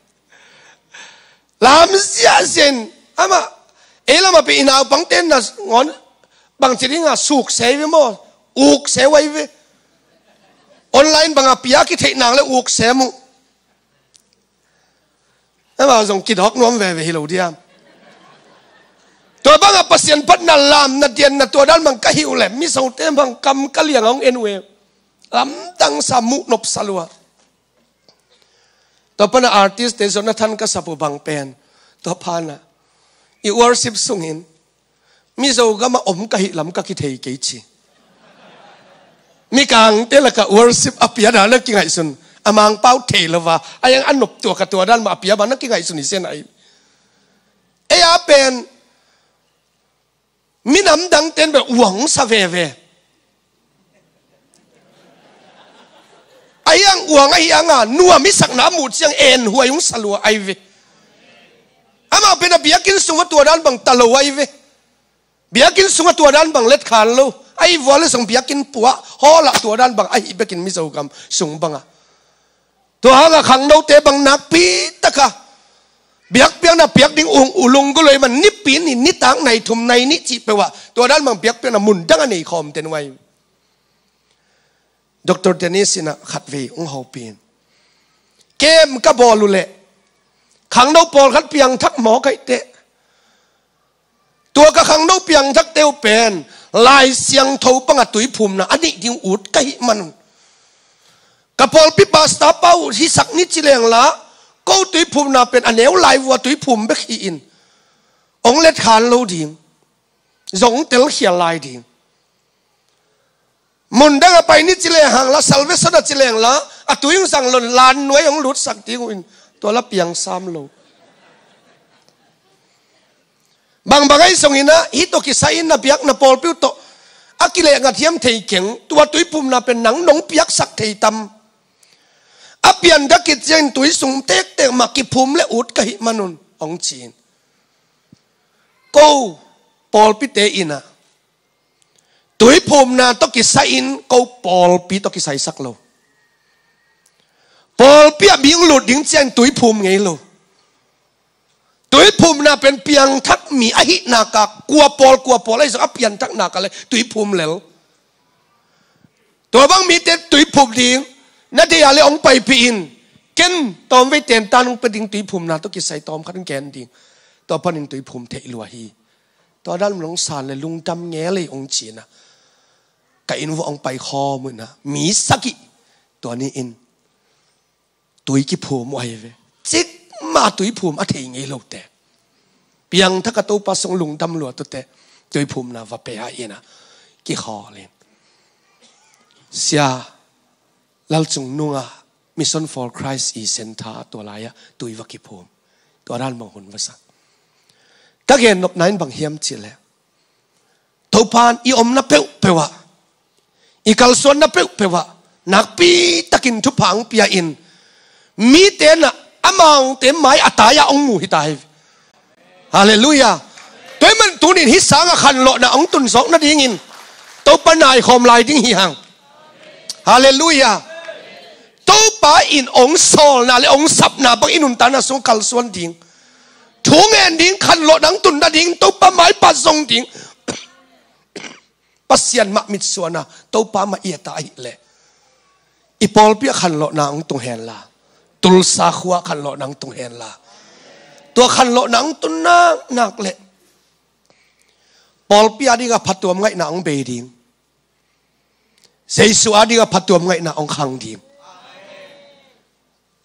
lam ziahziah in. Amah ei lamah pen i naupangte na ngawn bangci dinga suk sei ve maw, uk sei wai ve. Online banga pia kitheih nak le uk sem uh. Amau zong kidawk nuam veve hi lo diam? Tua banga Pasian phatna lamna dianna tua dan bang ka hih uh le Mizote bang kam ka liang a hong en uh e. Lamdang sa, muh nopsa lua. Tua pana artist te zong na than ka sap uh bang pen, tua pana i worship sungin Mizo gama om ka hih lam ka kithei kei ci. Mikangte laka worship a pia dan a kingaihsun, a Mangpau thei lova a yang a noptuak a tua dan mah a pia bang na kingaihsun hi zen ai. Ei a pen minam dangten beh uang sa veve. A hiang uang a hianga nuam i sakna a muh ciang en huai hong sa lua ai ve. Amau pen a biakinn sungah tua dan bang ta lo ai ve. Biakinn sungah tua dan bang letkhan lo. Ahi vua le zong biakinn puah hawlah tua dan bang ahi bekin Mizo gam sung banga. Tua hanga khangnote bang nakpi taka biakpiakna piak ding ung ulung guloi man nipi ni nitak nai thum nai nih cih peuhah tua dan bang biakpiakna mundang a nei khawm ten uai. Doctor Dennis inah khatvei hong hopih in, kem ka bawl uh leh khangno pawlkhat piangthak mawk aih teh, tua ka khangno piangthakte uh pen Lai Siangtho banga tuiphumna a neih ding ut ka hih manun, ka pawlpi pastor pa uh hisak ni ci lengla, ko tuiphumna pen a neu lai vua tuiphum bek hi-in hong letkhan lo ding, zong telkhial lai ding. Mundang a pai ni ci leng hangla, Salvation a ci lengla, a tui hong zang lon lan nuai hong lutsak ding uh in, tua la piang sam lo. Bangbang ahi zongin ah hih tawh kisai-in na biak na pawlpi uh tawh a kileh ngathiam thei keng, tua tuiphumna pen nang nong piaksak thei tam? A pianthak khit ciangin tui sung tektek mah kiphum le ut ka hih manun hong ci-in, ko pawlpite inah tuiphumna tawh kisai-in ko pawlpi tawh kisaisak lo. Pawlpi ah mi hong lut ding ciangin tuiphum ngei lo. Tuiphumna pen piangthak mi ahih naka kua pawl kua pawl ahi zong a pianthak naka le tuiphum lel. Tua bang mite tuiphum ding na deih a le hong paipih in, ken tawmvei tentan hong pia ding tuiphumna tawh kisai tawmkhat hong gen ding. Tua panin tuiphum theih lua hi. Tua dan hong san le lungdam ngel ei hong ci-in ah, ka inn vuah hong paikhawm uh inah mi sagih tua ni-in tui kiphum uh ahi ve. Cikmah tuiphum a thei ngei lote, piangthak a Topa sung lungdam lua tute tuiphumna va pe a inah kikhawl in, Sia Lalcung Nunga Mission for Christ i center tua lai-ah tui va kiphum. Tua dan bang hun va sak. Ka gennopna in bang hiam cih leh, Topan i omna peuhpeuh ah, i kalsuanna peuhpeuh ah nakpi takin thupha hong pia in, mite nah amau te mai a tai-ah hong mu hi ta hi. Halleluiah. Tua ahih man tunin hih sanga khanlawhna hong tun zawk nadingin Topa naikhawm lai ding hi hang. Halleluiah. Topa in hong sawlna le hong sapna bang i nuntakna sung kalsuan ding, thu ngen ding, khanlawhna hong tun nading, Topa maipa zong ding, Pasian mah mitsuana Topa mah i et a ahih leh, i pawlpi ah khanlawhna hong tung henla, Tulsa khua ah khanlawhna hong tung henla, tua khanlawhna hong tun naknak leh pawlpi a dingah phatuam ngaihna hong bei ding, Jesu a dingah phatuam ngaihna hong khang ding.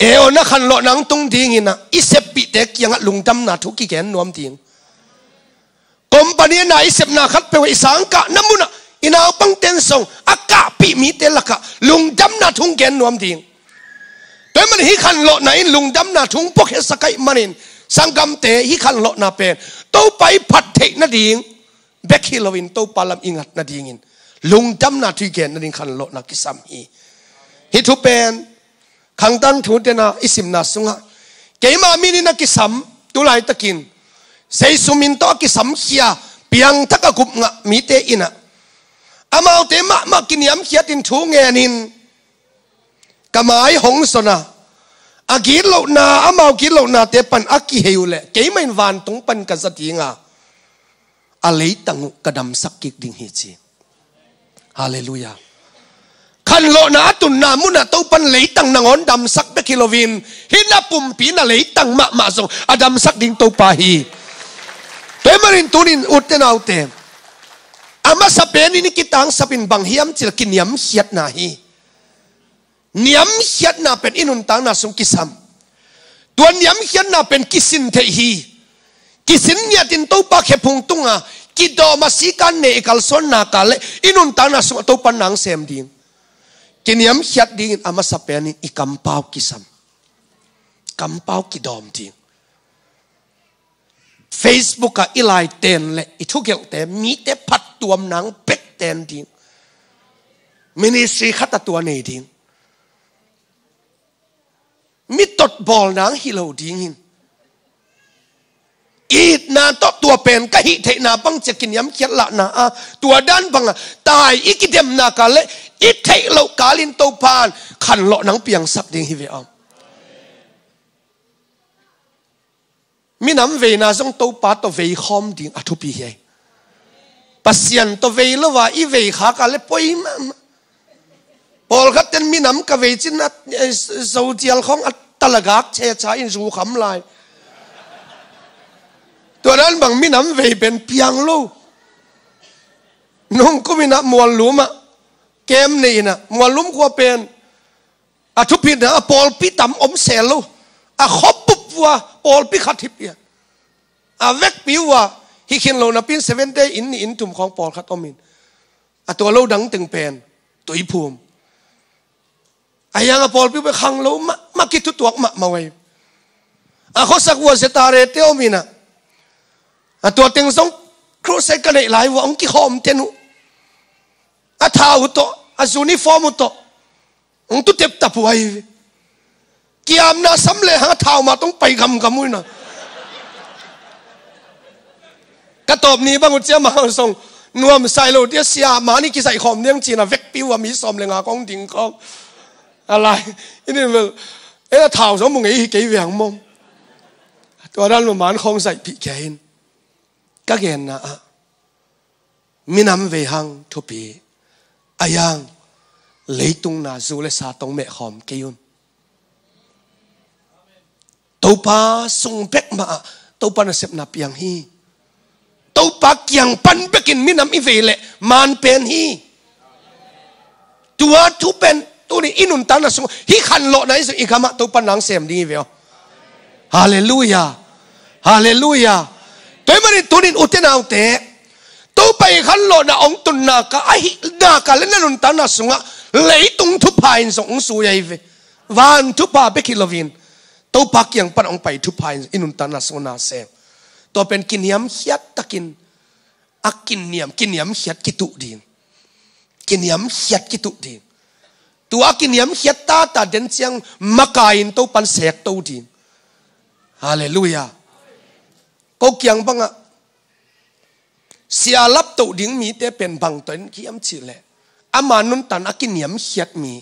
Eon a khanlawhna hong tung dingin ah i seppihte kiangah lungdamna thu kigen nuam ding. Ko Company na i sepna khat peuh i sangkahna munah i naupang ten zong a kahpih mite lakah lungdamna thu gen nuam ding. Tua ahih manin hih khanlawhna in lungdamna thu puakhiasak ahih manin sanggamte, hih khanlawhna pen Topa i phat theih nading bek hi loin Topa lam i ngat nadingin lungdamna thu i gen nading khanlawhna kisam hi. Hih thu pen Khangtang thu tena i simna sungah keima min in a kisam, tu laitakin Zeisu min tawh a kisamkhia, piangthak a gupngah mite in ah amaute mahmah kiniamkhiatin thu ngenin ka mai hong zon a, a gitlohna, amau gitlohnate pan a kihei uh leh keimah in vantung pan ka za ding a, a leitang uh ka damsak kik ding hi, ci. Halleluiah. Khanlawhna a tunna munah Topan leitang nangawn damsak bek hi loin, hih na pumpi na leitang mahmah zong a damsak ding Topa hi. Tua ahih manin tunin ute naute, a masa penin i kitangsapin bang hiam cih leh kiniamkhiatna hi. Niamkhiatna pen i nuntakna sung kisam. Tua niamkhiatna pen kisin theih hi. Kisin ngiatin Topa khephung tunga kidawm a, sikan ne i kalsuan nak leh i nuntakna sungah Topa nang sem ding. Kiniamkhiat dingin a masa penin i kampau kisam. Kampau kidawm ding. Facebook ah i lai ten leh i thugelhte mite phattuam nang bek ten ding. Ministry khat a tua nei ding. Mi tot bawl nang hi lo dingin, itna tawh tua pen ka hih theihna bang ci-a kiniamkhiat lahna a, tua dan banga tai i kidemna ka leh i theih loh kalin Topan khanlawh nang piangsak ding hi ve aw. Minam veina zong Topa tawh vei khawm ding a thupi hi. Pasian tawh vei lo a i vei khak a leh poi mahmah. Pawlkhat ten minam ka vei cin a, eh, Zodial khawng a talagak checha in zu kham lai. Tua dan bang minam vei pen piang lo. Nungkum in a Muallum ah kem nei in a, Muallum khua pen a thupitna a pawlpi tam om sel lo. A khop bup vua pawlpi khat hi pian. A vekpi vua hi khin lo napi in Seventh Day inn nih inn thum khawng pawlkhat om in, a tua lo dang teng pen Tuiphum. A hiang a pawlpi pen khang lo mahmah, kithutuak mahmah uh hi. A khuasak vua Zetare te om in a, a tua teng zong crusade ka neih lai vua hong kikhawm ten uh. A thau tawh, a uniform uh tawh hong tu teptap uh ahi ve. Kiamna sam lehang a thau mah tawh hong pai gamgam uh in a. Ka tawp ni bang uh ciah mah zong nuamsa hi lo dia, sia mah ni kizaih khawm ding ci-in a vekpi uh a mi sawm le nga khawng ding khawng. A lai, i nih bel, eh, a thau zong mu ngei hi kei ve hang maw. Tua dan lo man khawng zaihpih kia hin. Ka genna ah minam vei hang thupi. A hiang leitung na zu le sa tawh mehkhawm kei un. Topa sung bek mah ah Topa nasepna piang hi. Topa kiang pan bekin minam i vei leh man pen hi. Tua thu pen tuni i nuntakna sung hih khanlawhna i zong i gamah Topa nang sem ding hi ve aw. Halleluiah. Halleluiah. Tua ahih manin tunin ute naute, Topa i khanlawhna hong tun nak a, ahih nak leh na nuntakna sungah leitung thupha in zong hong zui ahi ve. Van thupha bek hi loin Topa kiang pan hong pai thupha in i nuntakna sungah na sem. Tua pen kiniamkhiat takin a kiniam, kiniamkhiat kituh ding. Kiniamkhiat kituh ding. Tua a kiniamkhiat tata den ciang makai in Topan sekto ding. Halleluiah. Ko kiang bangah sia laptoh ding mite pen bang tawh en hiam cih leh, ama nuntan a kiniamkhiat mi.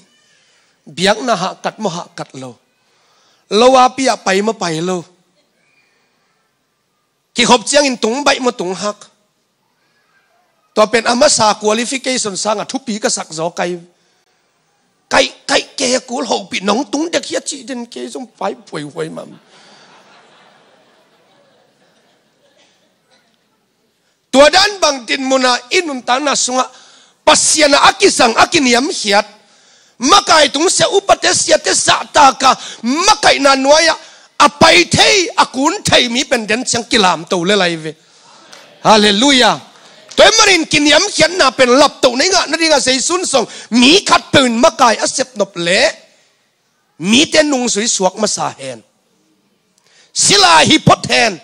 Biakna hahkat maw hahkat lo, lo a pi ah pai maw pai lo, kikhop ciangin tung baih maw tung hak. Tua pen a masa qualification sangah thupi ka sak zaw kai. Kaih, kaih kei a kul hopih nong tung dek hi a cih den kei zong pai phuaihuai mam. Tua dan bang dinmun ah i nuntakna sungah Pasian ah a kisang a kiniamkhiat, makai tungsiah upate siate zahtak a makaihna nuai-ah a pai thei a kun thei mi pen den ciang kilamto le lai ve. Halleluiah. Tua ahih manin kiniamkhiatna pen laptoh na i ngah nadingah Zeisu in zong mi khatpeuh in makai a sepnop leh mite nungzui suak masa hen. Sila hi phot hen.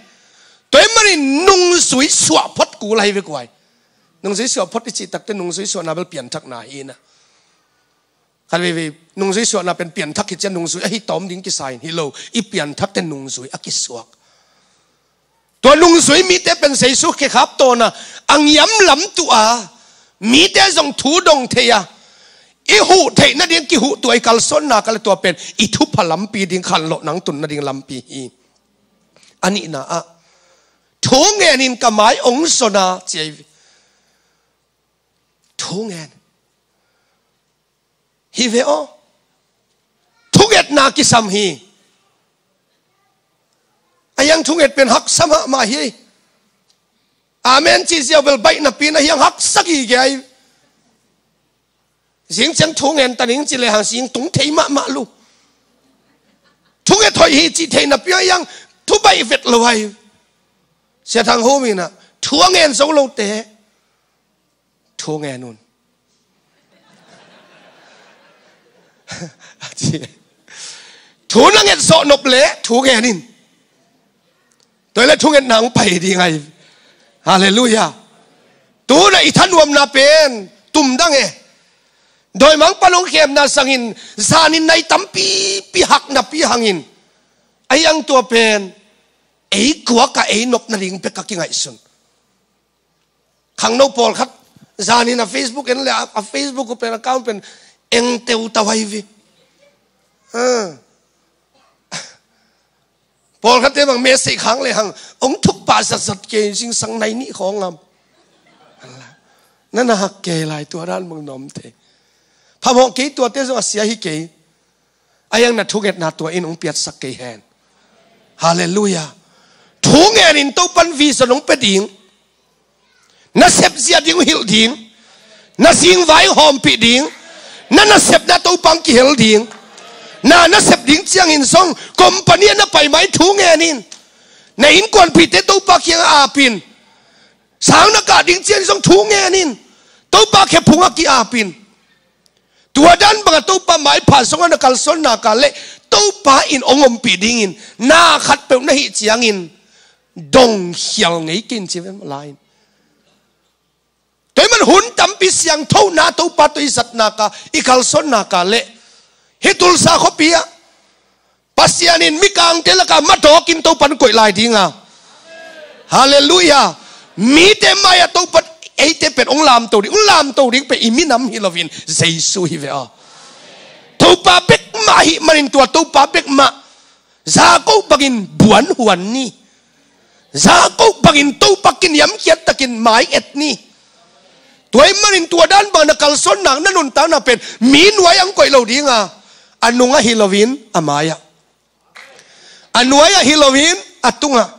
Tua ahih manin nungzui suah phot kul ahi ve guai. Nungzui suah phot i cih takteh nungzui suahna bel pianthakna hi na. Khat veivei nungzui suahna pen pianthak hi ciang nungzui ahi tawm ding kisa in hi lo. I pianthakte nungzui a kisuak. Tua nungzui mite pen Zeisu khekhap tawna a ngiam lam tuh a, mite zong thu dong thei a, i huh theih nading kihuh tuah i kalsuanna ka le tua pen i thupha lampi ding khanlawh nang tun nading lampi hi. A nihna ah thu ngen in ka mai ong zon a ci ahi ve. Thu ngen. Hi ve aw. Thungetna kisam hi. A hiang thunget pen haksa mahmah hi. Amen cih ziau bel baih napi in a hiang haksa gige ahi. Zing ciang thu ngen ta ning ci lehang zing tung thei mahmah lu. Thunget hoih hi cih thei napi a hiang thu baih vet lo ahi. Sia Thang Hum in ah thu a ngen zo lote thu ngen un. Thu na nget zawh nop leh thu ngen in. Tua hi leh thungetna hong pai ding ahi. Halleluiah. Tu-in ah i thanuamna pen tumdang e. Dawimangpa hong khemna sangin zanin nai tampipi hak napi hangin a hiang tua pen ei kuakah ei nop nading bek a kingaihsun. Khangno pawlkhat zanin a Facebook en le a, a Facebook uh pen account pen eng teutau ahi ve. Ha. Pawlkhatte bang message khang lehang ong thuk pah zatzat kei, zingsang nai nih khawng ngam. Na na hak kei lai tua dan bang na om thei. Phamawh kei tuate zong a sia hi kei. A hiang na thungetna tua in hong piatsak kei hen. Halleluiah. Thu ngen in Topan vision hong pia ding. Na sep zia ding hong hilh ding. Na zingvai hawmpih ding. Na nasepna Topa hong kihel ding. Na nasep ding ciangin zong company ah na pai mai thu ngen in. Na innkuanpihte Topa kiangah ap in. Sang na kah ding ciangin zong thu ngen in. Topa khephung ah ki-ap in. Tua dan bangah Topa maipha zongah na kalsuan nak leh Topa in hong ompih dingin na khatpeuh na hih ciangin dongkhial ngei kei in ci ve lai in. Tua ahih man hun tampi siangthona Topa tawh i zat nak, i kalsuan nak leh hih Tulsa khuapi ah Pasian in mikangte lakah madawkin Topan koih lai ding a. Halleluiah. Mite mai-ah Topan eite pen hong lamto ding, hong lamto ding pen i minam hi loin Jesu hi ve aw. Topa bek mah ahih manin tua Topa bek mah Jakob bangin buanhuan ni. Jakob bangin Topa kiniamkhiat takin mai et ni. Tua ahih manin tua dan bang na kalsuan nak, na nuntak nak pen mi nuai-ah hong koih lo ding a, a nungah hi loin a mai-ah, a nuai-ah hi loin a tungah,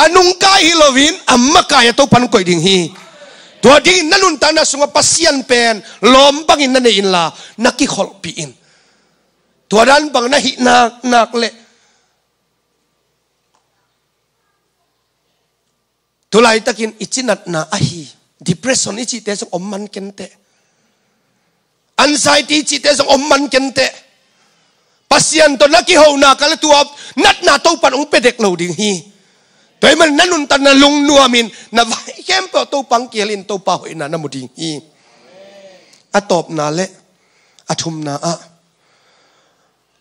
a nungkai hi loin a makai-ah Topan koih ding hi. Tua dingin na nuntakna sungah Pasian pen lawm bangin na nei inla na kikholhpih in. Tua dan bang na hih nak, nak leh tulaitakin i cinatna ahi depression i cihte zong om man kenteh. Anxiety i cihte zong om man kenteh. Pasian tawh na kiho nak leh tua natna Topan hong pia dek lo ding hi. Tua ahih man na nuntakna lungnuamin na vai khempeuh Topa hong kihel in Topa hoihna na mu ding hi. A tawpna leh a thumna ah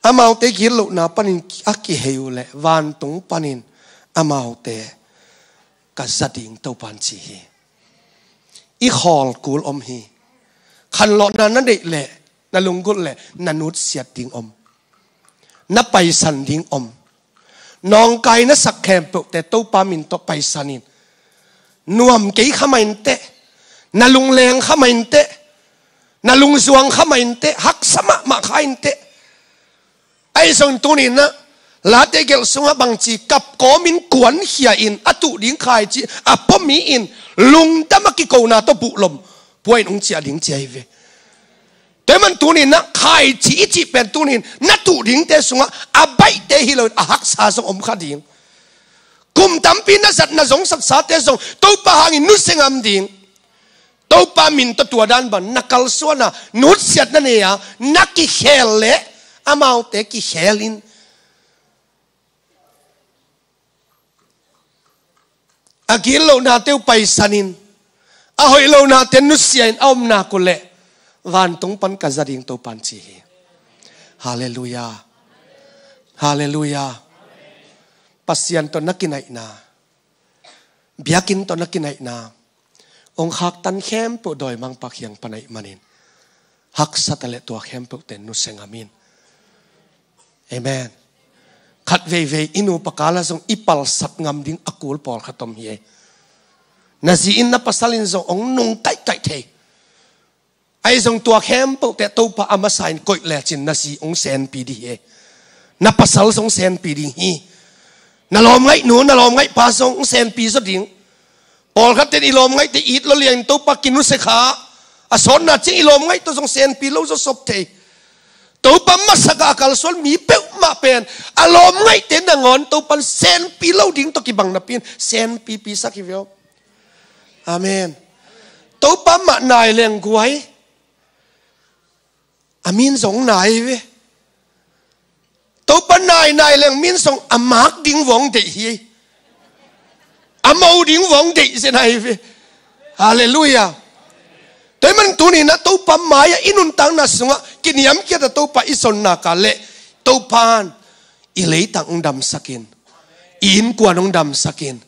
amaute gitlohna panin a kihei uh leh vantung panin amaute ka za ding Topan ci hi. I khawl kul om hi. Khanlawhna na neih leh na lunggulh leh na nutsiat ding om. Na paisan ding om. Nawngkai na sak khempeuhte Topa min tawh paisan in. Nuam kei kha mah inteh. Na lungleng kha mah inteh. Na lungzuang kha mah inteh. Haksa mahmah kha inteh. Ahi zongin tuni-in ah Late gelh sungah bangci kap kawmin kuankhia in a tuh ding khaici a pua mi in lungdam a kikona tawh buhlom pua in hong ciah ding ci ahi ve. Tua ahih man tuni-in ah khaici i cih pen tuni-in na tuh dingte sungah a baihte hi loin a haksa zong om kha ding. Kum tampi na zat na zong satsate zong Topa hangin nusia ngam ding. Topa min tawh tua dan bang na kalsuan a, nutsiat na nei a, na kikhel leh amaute kikhel in, a gitlohnate uh paisan in, a hoihlohnate nusia in a om nak uh leh vantung pan ka za ding Topa'n ci hi. Halleluiah. Halleluiah. Pasian tawh na kinaihna, biakinn tawh na kinaihna, hong khaktan khempeuh dawimangpa kiang pan ahih manin, haksa ta leh tua khempeuhte nusia ngam in. Amen. Khat veivei i nupa kal ah zong i palsat ngam ding a kul pawlkhat om hi. Na zi in na pasal in zong hong nung kaihkaih thei. Ahi zong tua khempeuhte Topa a masa in koih lecin na zi hong senpi ding hi. Na pasal zong senpi ding hi. Na lawmngaihnu, na lawmngaihpa zong hong senpi zaw ding. Pawlkhat ten i lawmngaihte it lo liangin Topa kinusia kha, a sawtna ciang i lawmngaih tawh zong senpi lo zaw sop thei. Topa masak a kalsuan mi peuhmah pen a lawmngaihte nangawn Topa'n senpi lo ding tawh kibang napi in senpipi sak hi ve aw. Amen. Topa mah nai leng guai, a min zong nai ve. Topa nai nai leng min zong a mak ding vong deih hi. A mo ding vong deih zen ahi ve. Halleluiah. Tua ahih man tuni-in ah Topa mai-ah i nuntakna sungah kiniamkhiat a Topa i zon nak leh Topa'n i leitang hong damsak in, i innkuan hong damsak in,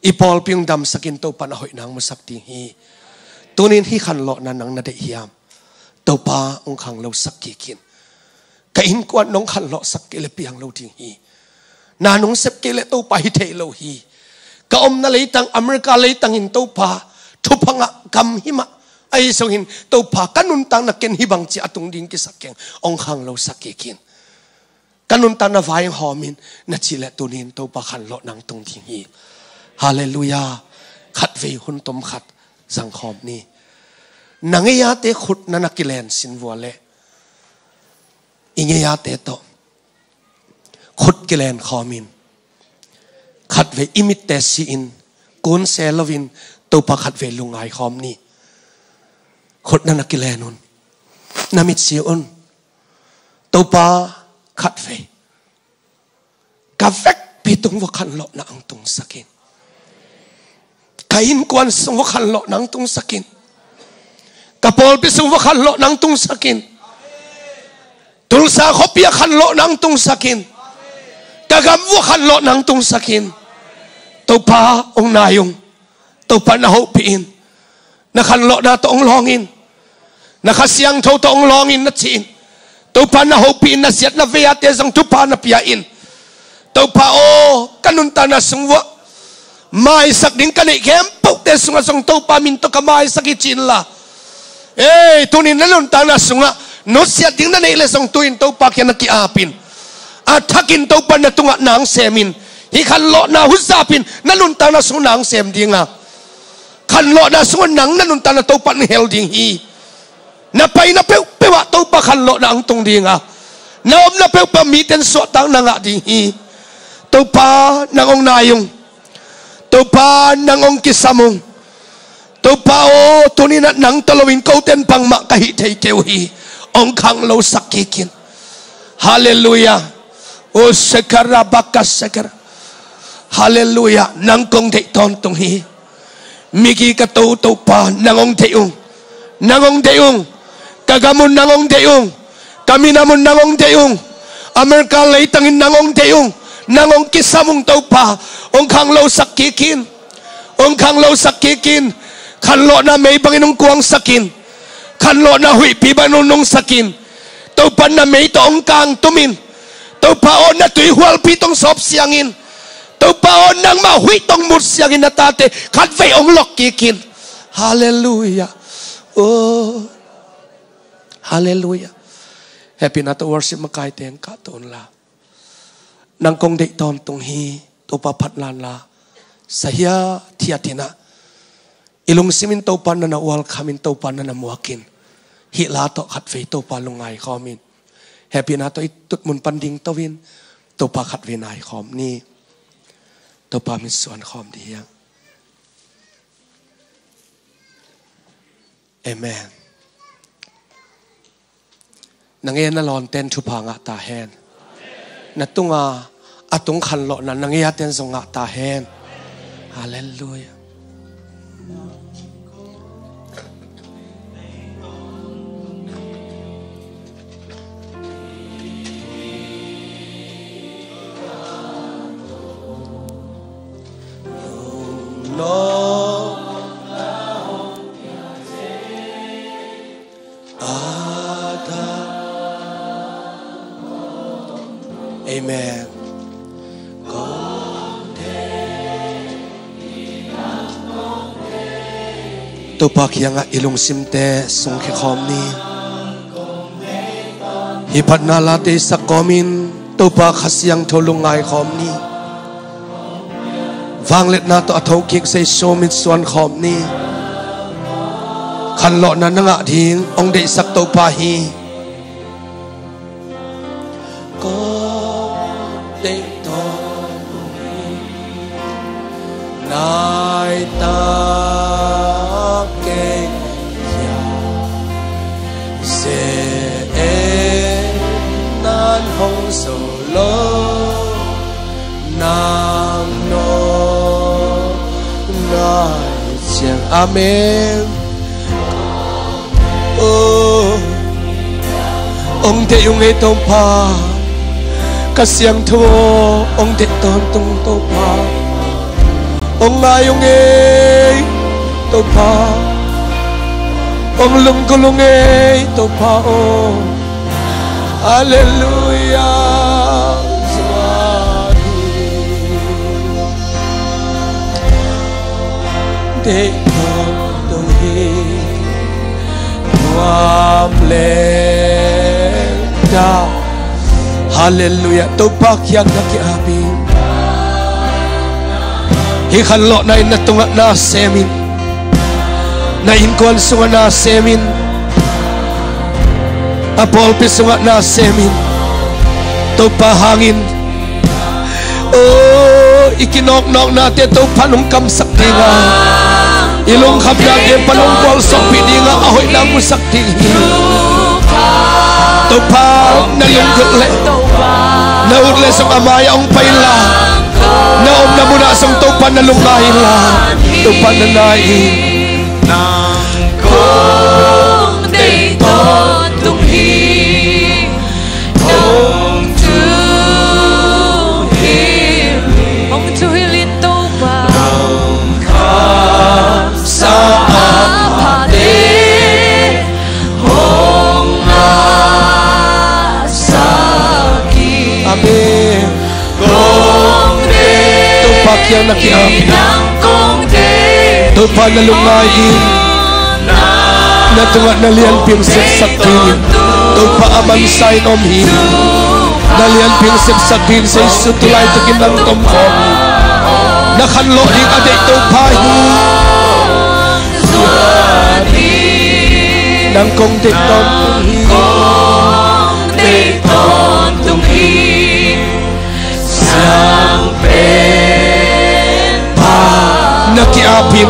i pawlpi hong damsak in Topa'n a hoih nang musak ding hi. Tuni-in hih khanlawhna nang na deih hiam? Topa hong khanglosak kik in. Ka innkuan nong khanlawhsak kei leh piang lo ding hi. Na nong sep kei leh Topa hi thei lo hi. Ka omna leitang America leitang in Topa thupha ngah gam hi mah. Ahi zongin Topa ka nuntakna ken hih bang ci a tung ding kisam keng, hong khanglosak kik in. Ka nuntakna vai hong hawm in na cih leh tuni-in Topa khanlawhna hong tung ding hi. Halleluiah. Khatvei hun tom khat zangkhawm ni. Na ngeia te khut na na kilen sin vua leh i ngeia te tawh khut kilen khawm in, khatvei i mitte si in, kun se lo in Topa khatvei lungngai khawm ni. Khut na na kilen un, na mit si un. Topa, khatvei ka vekpi tung vua khanlawhna hong tungsak in. Ka innkuan sung vua khanlawhna hong tungsak in. Ka pawlpi sung vua khanlawhna hong tungsak in. Tulsa khuapi ah khanlawhna hong tungsak in. Ka gam vua khanlawhna hong tungsak in. Topa hong nai ung. Topa na hopih in. Na khanlawhna tawh hong lawng in. Na Kha Siangtho tawh hong lawng in na ci in. Topa na hopih in, na siatna vei-a te zong thupha na pia in. Topa aw, ka nuntakna sung vua maisak ding ka neih khempeuhte sungah zong Topa min tawh ka maisak hi ci inla. Ei, tuni-in na nuntakna sungah nusiat ding na neih leh zong tu-in Topa kiang na ki-ap in. A thakin Topa na tungah nang sem in. Hih khanlawhna huzap in na nuntakna sungah nang sem ding a, khanlawhna sungah nang na nuntakna Topa na hel ding hi. Na paina peuhpeuh ah Topa khanlawhna hong tung ding a, na omna peuhpeuh mite in suahtakna ngah ding hi. Topa nang hong nai ung. Topa nang hong kisam ung. Topa aw, tuni-in ah nang tawh loin kote in bangmah ka hih thei kei uh hi. Hong khanglosak kik in. Halleluiah. O sekara baka sekara. Halleluiah. Nang kong deih tawntung hi. Migi ka to Topa nang hong deih ung. Nang hong deih ung. Ka gam un nang hong deih ung. Ka minam un nang hong deih ung. America leitang in nang hong deih ung. Nang hong kisam ung Topa. Hong khanglosak kik in. Hong khanglosak kik in. Khanlawhna mei bangin hong kuangsak in. Khanlawhna huihpi bangin hong nungsak in. Topa na mei tawh hong kangtum in. Topa aw, na tuihualpi tawh hong sawp siang in. Topa aw, nangmah huih tawh hong mut siangin na tate khatvei hong lawk kik in. Halleluiah. Oh. Halleluiah. Happy na tawh worship makaite hong kahto unla. Nang kong deih tawntung hi. Topa phat lanla. Sahiat thiat in ah, i lungsim in Topa na na ualkham in, Topa na na muak in. Hih la tawh khatvei Topa lungngai khawm in. Happy na tawh i tutmun pan dingto in Topa khatvei nai khawm ni. Topa mitsuan khawm dih hiang. Amen. Na ngen na lawnten thupha ngah ta hen. Na tunga a tung khanlawhna na ngeaten zong ngah ta hen. Halleluiah. Amen. Topa kiangah i lungsimte sungkhia khawm ni. Hih phatna la teisak kawmin Topa Kha Siangtho lungngai khawm ni. Vangliatna tawh a thokik Jesu mitsuan khawm ni. Khanlawhna na ngah ding hong deihsak Topa hi. Kong deih tawntung hi. Nai tak kei hia. Se e nan hong zo lo. Nang no nai ciang. Amen. Oh. Hong deih ung ei Topa. Kha Siangtho aw, hong deih tawntung Topa. Hong ngai ung ei Topa. Hong lunggulh ung ei Topa aw. Halleluiah. Deih tawntung hi. Nuam le da. Halleluiah. Topa kiang na ki-ap in. Hih khanlawhna in na tungah na sem in. Na innkuan sungah na sem in. A pawlpi sungah na sem in. Topa hangin. Oh, i kinawknawknate Topa nong kamsak ding a, i lungkhamnate pan hong gualsawhpih ding a, a hoihna musak ding hi. Topa na lunggulh leh, na ut leh zong a mai-ah hong pai inla, na omna munah zong Topa na lungngai inla, Topa na nai in. Nang kong deih tawntung hi. Hong thuhilh, hong thuhilh in Topa. Nong khamsa a phate hong ngahsak hi. Amen. Topa kiang na ki-ap in. Topa na lungngai in. Na tungah na lianpi hong sepsak dingin Topa a mansa in om hi. Na lianpi hong sepsak dingin Jesu tu laitakin nang tomkhawm. Na khanlawh ding a deih Topa hi. Nang kong deih tawntung hi. Kong deih tawntung hi. Siang pen pa. Na ki-ap in.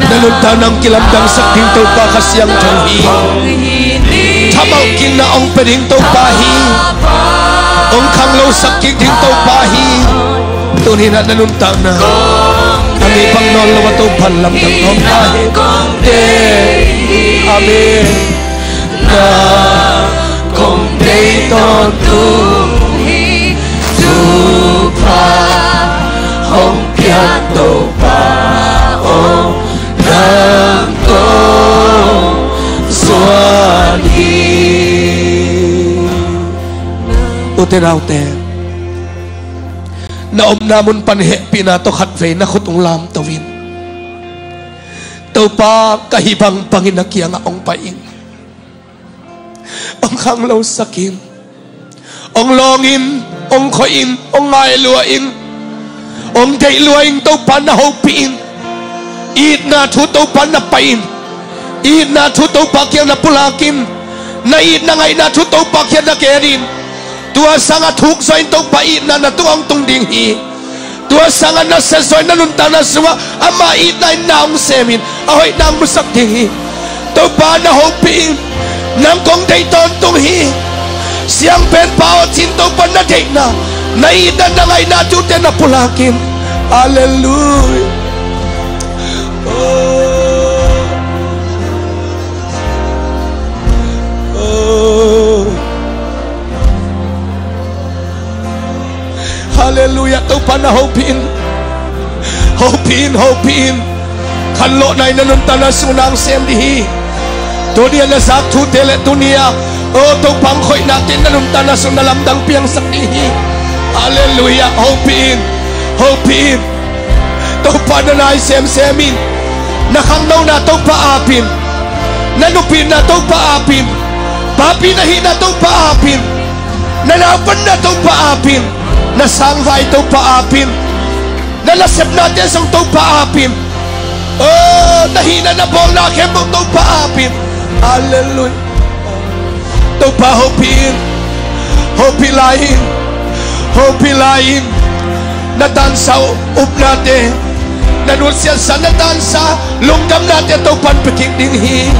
Na nuntakna hong kilamdangsak ding Topa Kha Siangtho hi. Thamalkinna hong pia ding Topa hi. Hong khanglosak kik ding Topa hi. Tuni-in ah na nuntakna a mi bang nawn lo a Topa lamdang nawn ta hi. Amen. Na kong deih tawntung hi. Thupha hong pia Topa aw, nang kong zuan hi. Ute naute, na omna mun pan hehpihna tawh khatvei na khut hong lamto in. Topa, ka hih bangbangin na kiangah hong pai in. Hong khanglosak in. Hong lawng in, hong khoi in, hong ngai lua in. Hong deih lua in, Topa na hopih in. Itna thu Topa na pai in. Itna thu Topa kiang na pulak in. Na itna ngaihna thu Topa kiang na gen in. Tua sangah thuk zaw in, Topa itna na tungah hong tung ding hi. Tua sangah na siatsuah in, na nuntakna sungah amah itna in na hong sem in, a hoih nang musak ding hi. Topa na hopih in. Nang kong deih tawntung hi. Siangpenpa aw, cin Topa na deihna, na itna, na ngaihna thute na pulak in. Halleluiah. Oh. Oh. Halleluiah. Topa na hopih in. Hopih in, hopih in. Khanlawhna in na nuntakna sung nang sem ding hi. Tuni a na zak thute le tuni a, oh, Topa hong khoihnate in na nuntakna sung na lamdang piangsak ding hi. Halleluiah. Hopih in. Hopih in. Topa na nai semsem in. Na khangnona Topa ap in. Na nupina Topa ap in. Papi na hihna Topa ap in. Na naupanna Topa ap in. Na sangvai Topa ap in. Na nasepnate zong Topa ap in. Oh, na hihna na bawlna khempeuh Topa ap in. Halleluiah. Topa hopih in. Hopih lai in. Hopih lai in. Na tansa upnate, na nusiatsa, na tansa lungdamnate Topa'n pia kik ding hi.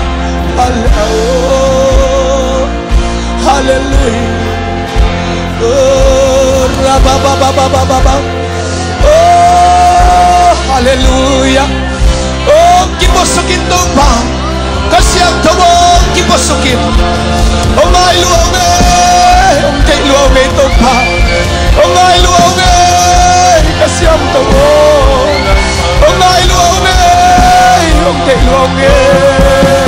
Hal-, oh, halleluiah. Oh, rabababababa. Oh, halleluiah. Oh, kipuasuk in Topa. Ka Siangtho aw, kipuasuk in. Hong ngai lua ung ei, hong deih lua ung ei Topa. Hong ngai lua ung ei, ka Siangtho aw. Hong ngai lua ung ei, hong deih lua ung ei.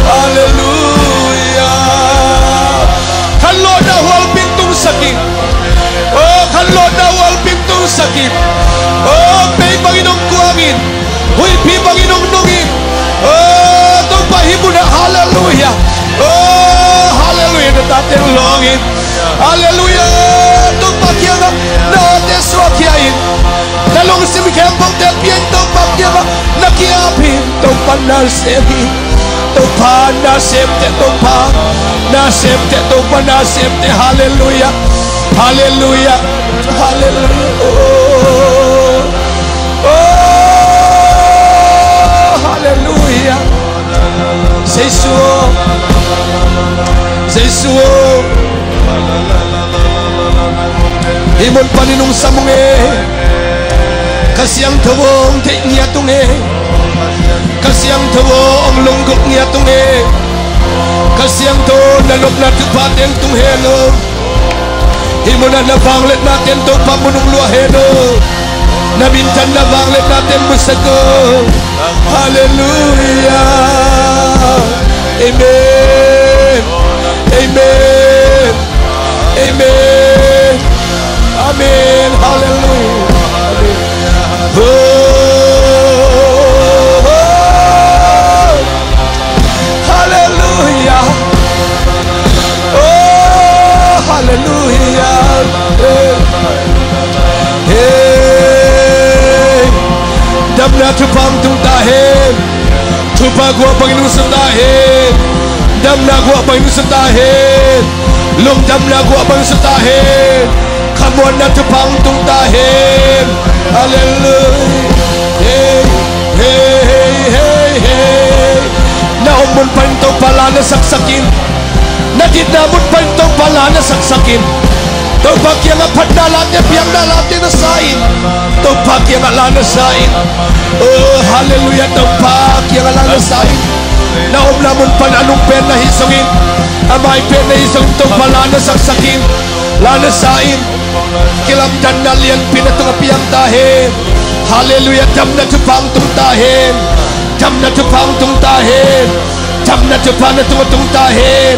Halleluiah. Khanlawhna hualpi in tungsak in. Oh, khanlawhna hualpi in tungsak in. Oh, mei bangin hong kuang in. Huihpi bangin hong nung in. Oh, Topa hih munah, halleluiah. Oh, halleluiah, na tate hong lawng in. Halleluiah, Topa kiangah na awte suahkhia in. Na lungsim khempeuhte pia in, Topa kiangah na ki-ap in. Topa na sem in. Topa na semte, Topa na semte, Topa na semte. Halleluiah. Halleluiah. Halleluiah. Oh. Oh. Halleluiah. Jesu aw. Jesu aw. Hih mun panin hong sam ung ei. Ka Siangtho aw, hong deih ngiat ung ei. Ka Siangtho aw, hong lunggulh ngiat ung ei. Ka Siangtho, na nopna thupha teng tung hen aw. Hih munah na vangliatna ten Topa mun hong luah hen aw. Na minthanna vangliatna ten musak aw. Halleluiah. Amen. Amen. Amen. Amen. Halleluiah. Amen. Oh, oh, oh. Halleluiah. Oh, halleluiah. Hey. Hey. Damna thupha hong tung ta hen. Thupha guah bangin hong suak ta hen. Damna guah bangin hong suak ta hen. Lungdamna guah bangin hong suak ta hen. Khamuanna thupha hong tung ta hen. Halleluiah. Hey, hey, hey, hey, hey. Na om mun panin Topa la na saksak in. Na ditna mun panin Topa la na saksak in. Topa kiangah phatna late, biakna late na sa in. Topa kiangah la na sa in. Oh, halleluiah, Topa kiangah la na sa in. Na omna mun pan a nung pen na hih zongin, a mai pen na hih zongin, Topa la na saksak in. La na sa in. Kilamdanna lianpi na tungah piang ta hen. Halleluiah. Damna thupha hong tung ta hen. Damna thupha hong tung ta hen. Damna thupha na tungah tung ta hen.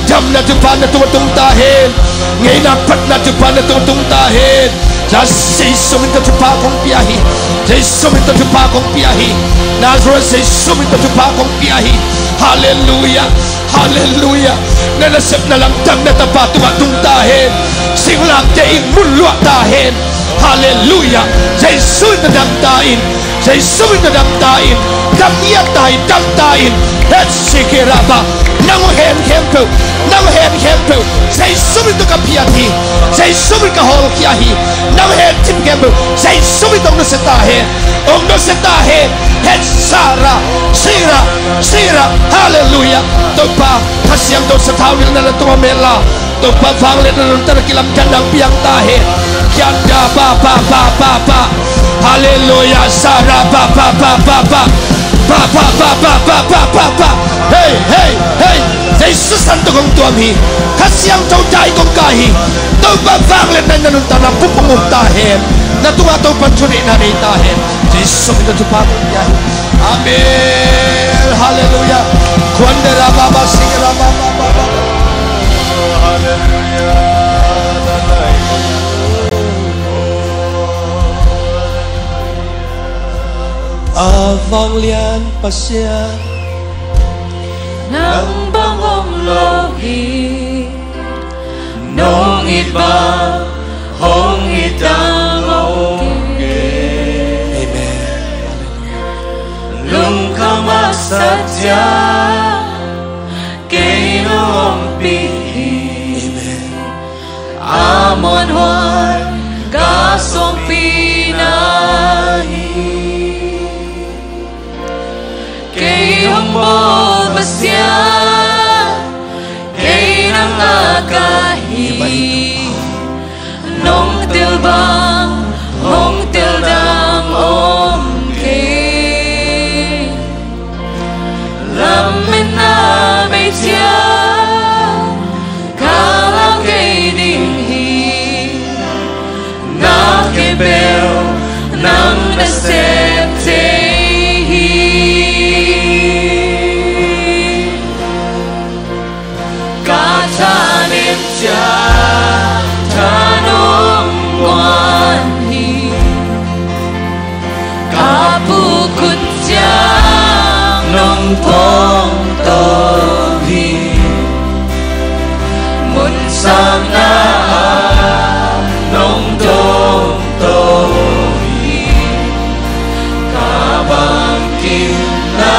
Damna thupha na tungah tung ta hen. Ngeina phatna thupha na tungah tung ta hen. Jesu min tawh thupha kong pia hi. Jesu min tawh thupha kong pia hi. Nazareth Jesu min tawh thupha kong pia hi. Halleluiah. Halleluiah. Na nasepna lam damna tapa tungah tung ta hen. Singlamteh in mun luah ta hen. Halleluiah. Jesu in na dam ta in. Jesu in na dam ta in. Dam ngiat ta hi, dam ta in. Hetsikiraba. Nang hong hen khempeuh, nang hong hen khempeuh Jesu min tawh ka phiat hi. Jesu min ka hawlkhia hi. Nang hong hen cip khempeuh Jesu min tawh hong nusia ta hen. Hong nusia ta hen. Hetsara. Sira. Sira. Halleluiah. Topa, Kha Siangtho sathau nilhna na tungah mel la. Topa vangliatna nuntakna kilamdanna hong piang ta hen. Kianda pa pa pa pa pa. Halleluiah. Sara pa pa pa pa pa. Pa pa pa pa pa pa pa pa. Hei, hei, hei. Jesu san tawh kong tuam hi. Kha Siangtho dai kong kai hi. Topa vangliatna in na nuntakna pum hong um ta hen. Na tungah Topa thunihna nei ta hen. Jesu min tawh thupha kong pia hi. Amen. Halleluiah. Kuandera baba singra baba baba. Halleluiah. A vanglian Pasian, nang bang om lo hi. Nong it bang hong it dang om kei. Amen. Lungkham a sa ciang kei nong ompih hi. Amen. A muanhuai ka suangpih na hi. Kei hong bawl Pasian, kei nang ngak ka hi. Nong tel bang hong tel dang om kei. Lametna bei ciang ka lau kei ding hi. Na khempeuh nang na sep thei hi. Ka thanem ciang tha nong guan hi. Ka puk khut ciang nong pongto hi. Mun sakna ah nong dongto hi. Ka bangkimna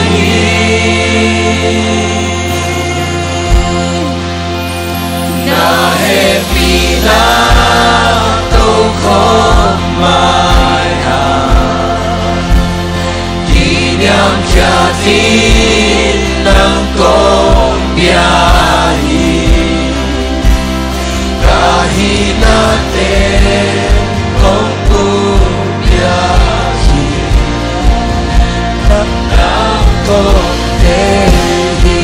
hi. Na hehpihna tokhawm mai-a kiniamkhiat in nang kong bia hi. Ka hihnate kong pupia hi. Nang kong teel hi.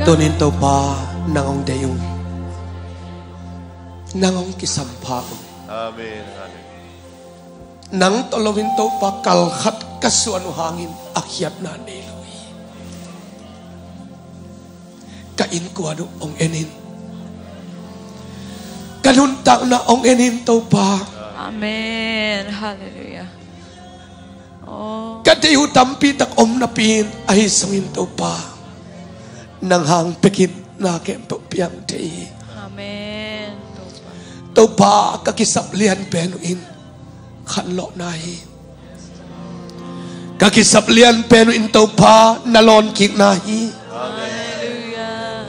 Tunin Topa, nang hong deih ung. Nang hong kisampha ung. Amen. Amen. Nang tawh loin Topa kal khat ka suan uh hangin a khiatna nei lo hi. Ka innkuan uh hong en in. Ka nuntakna hong en in Topa. Amen. Halleluiah. Ka deih uh tampi tak om napi-in ahi sungin Topa, nang hang pekin na khempeuh piang thei hi. Amen. Topa, ka kisap lian pen uh in khanlawhna hi. Ka kisap lian pen uh in Topa na lawnkikna hi.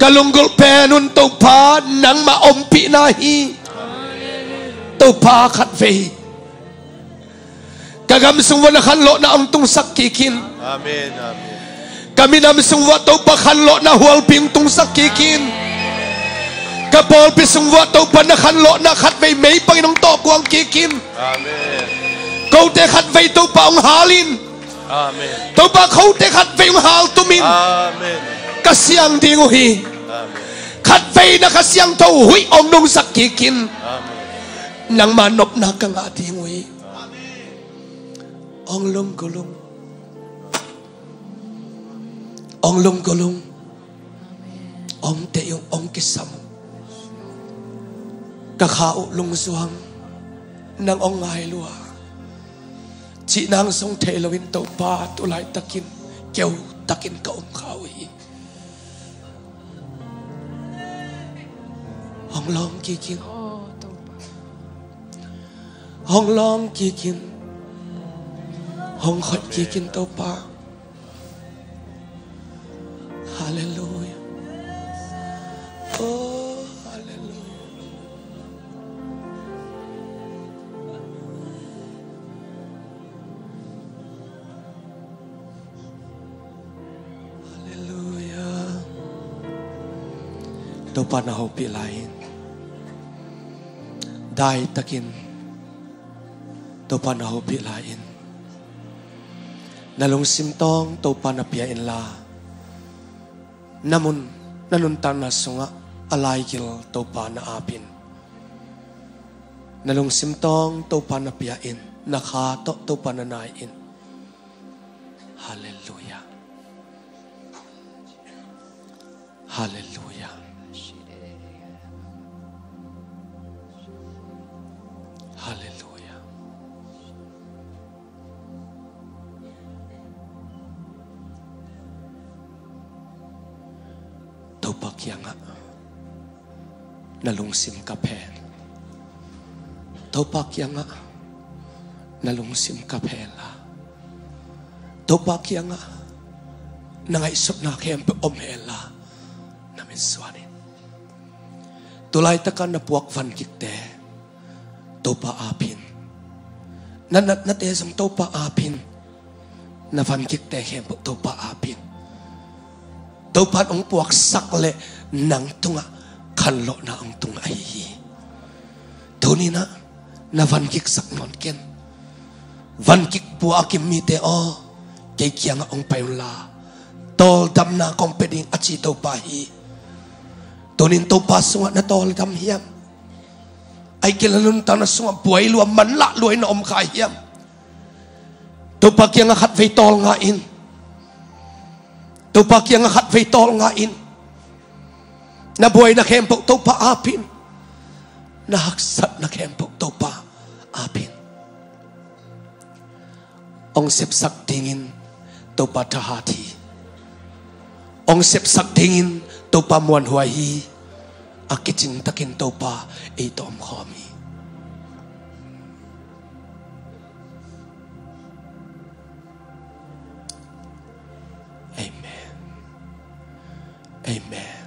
Ka lunggulh pen un Topa nangmah ompihna hi. Topa, khatvei ka gam sung uah na khanlawhna hong tungsak kik in. Amen, amen. Ka minam sung uah Topa khanlawhna hualpi hong tungsak kik in. Ka pawlpi sung uah Topa na khanlawhna khatvei mei bangin hong tawh kuang kik in. Amen. Kote khatvei Topa hong hal in. Amen. Topa, kote khatvei hong haltum in. Amen. Ka siang ding uh hi. Amen. Khatvei na Kha Siangtho huih hong nungsak kik in. Amen. Nangma nopna ka ngah ding uh hi. Hong lunggulh ung. Hong lunggulh ung. Hong deih ung, hong kisam ung. Ka kha uh lungzuang, nang hong ngai lua. Cih nang zong thei loin Topa, tu laitakin keu takin ka om kha uh hi. Hong lawng kik in. Hong lawng kik in. Hong hoih kik in Topa. Halleluiah. Oh, halleluiah. Halleluiah. Topa na hopih lai in. Daitakin Topa na hopih lai in. Na lungsim tawng Topa na pia inla, na mun, na nuntakna sungah a laigil Topa na ap in. Na lungsim tawng Topa na pia in. Na kha tawh Topa na nai in. Halleluiah. Halleluiah. Halleluiah. Topa kiangah na lungsim kap hen. Topa kiangah na lungsim kap hen la, Topa kiangah na ngaihsutna khempeuh om hen la, na mitsuan in. Tu laitakin na puak vankikte Topa ap in. Na natnate zong Topa ap in. Na vankikte khempeuh Topa ap in. Topa in hong puaksak leh nang tungah khanlawhna hong tung ahi hi. Tuni-in ah na vankiksak nawn ken. Vankik pua a kim mite aw, kei kiangah hong pai unla, tawldamna kong pia ding a ci Topa hi. Tuni-in Topa sungah na tawldam hiam? Ahih kei leh na nuntakna sungah buai lua, manlah lua in na om kha hiam? Topa kiangah khatvei tawlnga in. Topa kiangah khatvei tawlnga in. Na buaina khempeuh Topa ap in. Na haksatna khempeuh Topa ap in. Hong sepsak dingin Topa thahat hi. Hong sepsak dingin Topa muanhuai hi. A kicing takin Topa ei tawh omkhawm hi. Amen. Amen.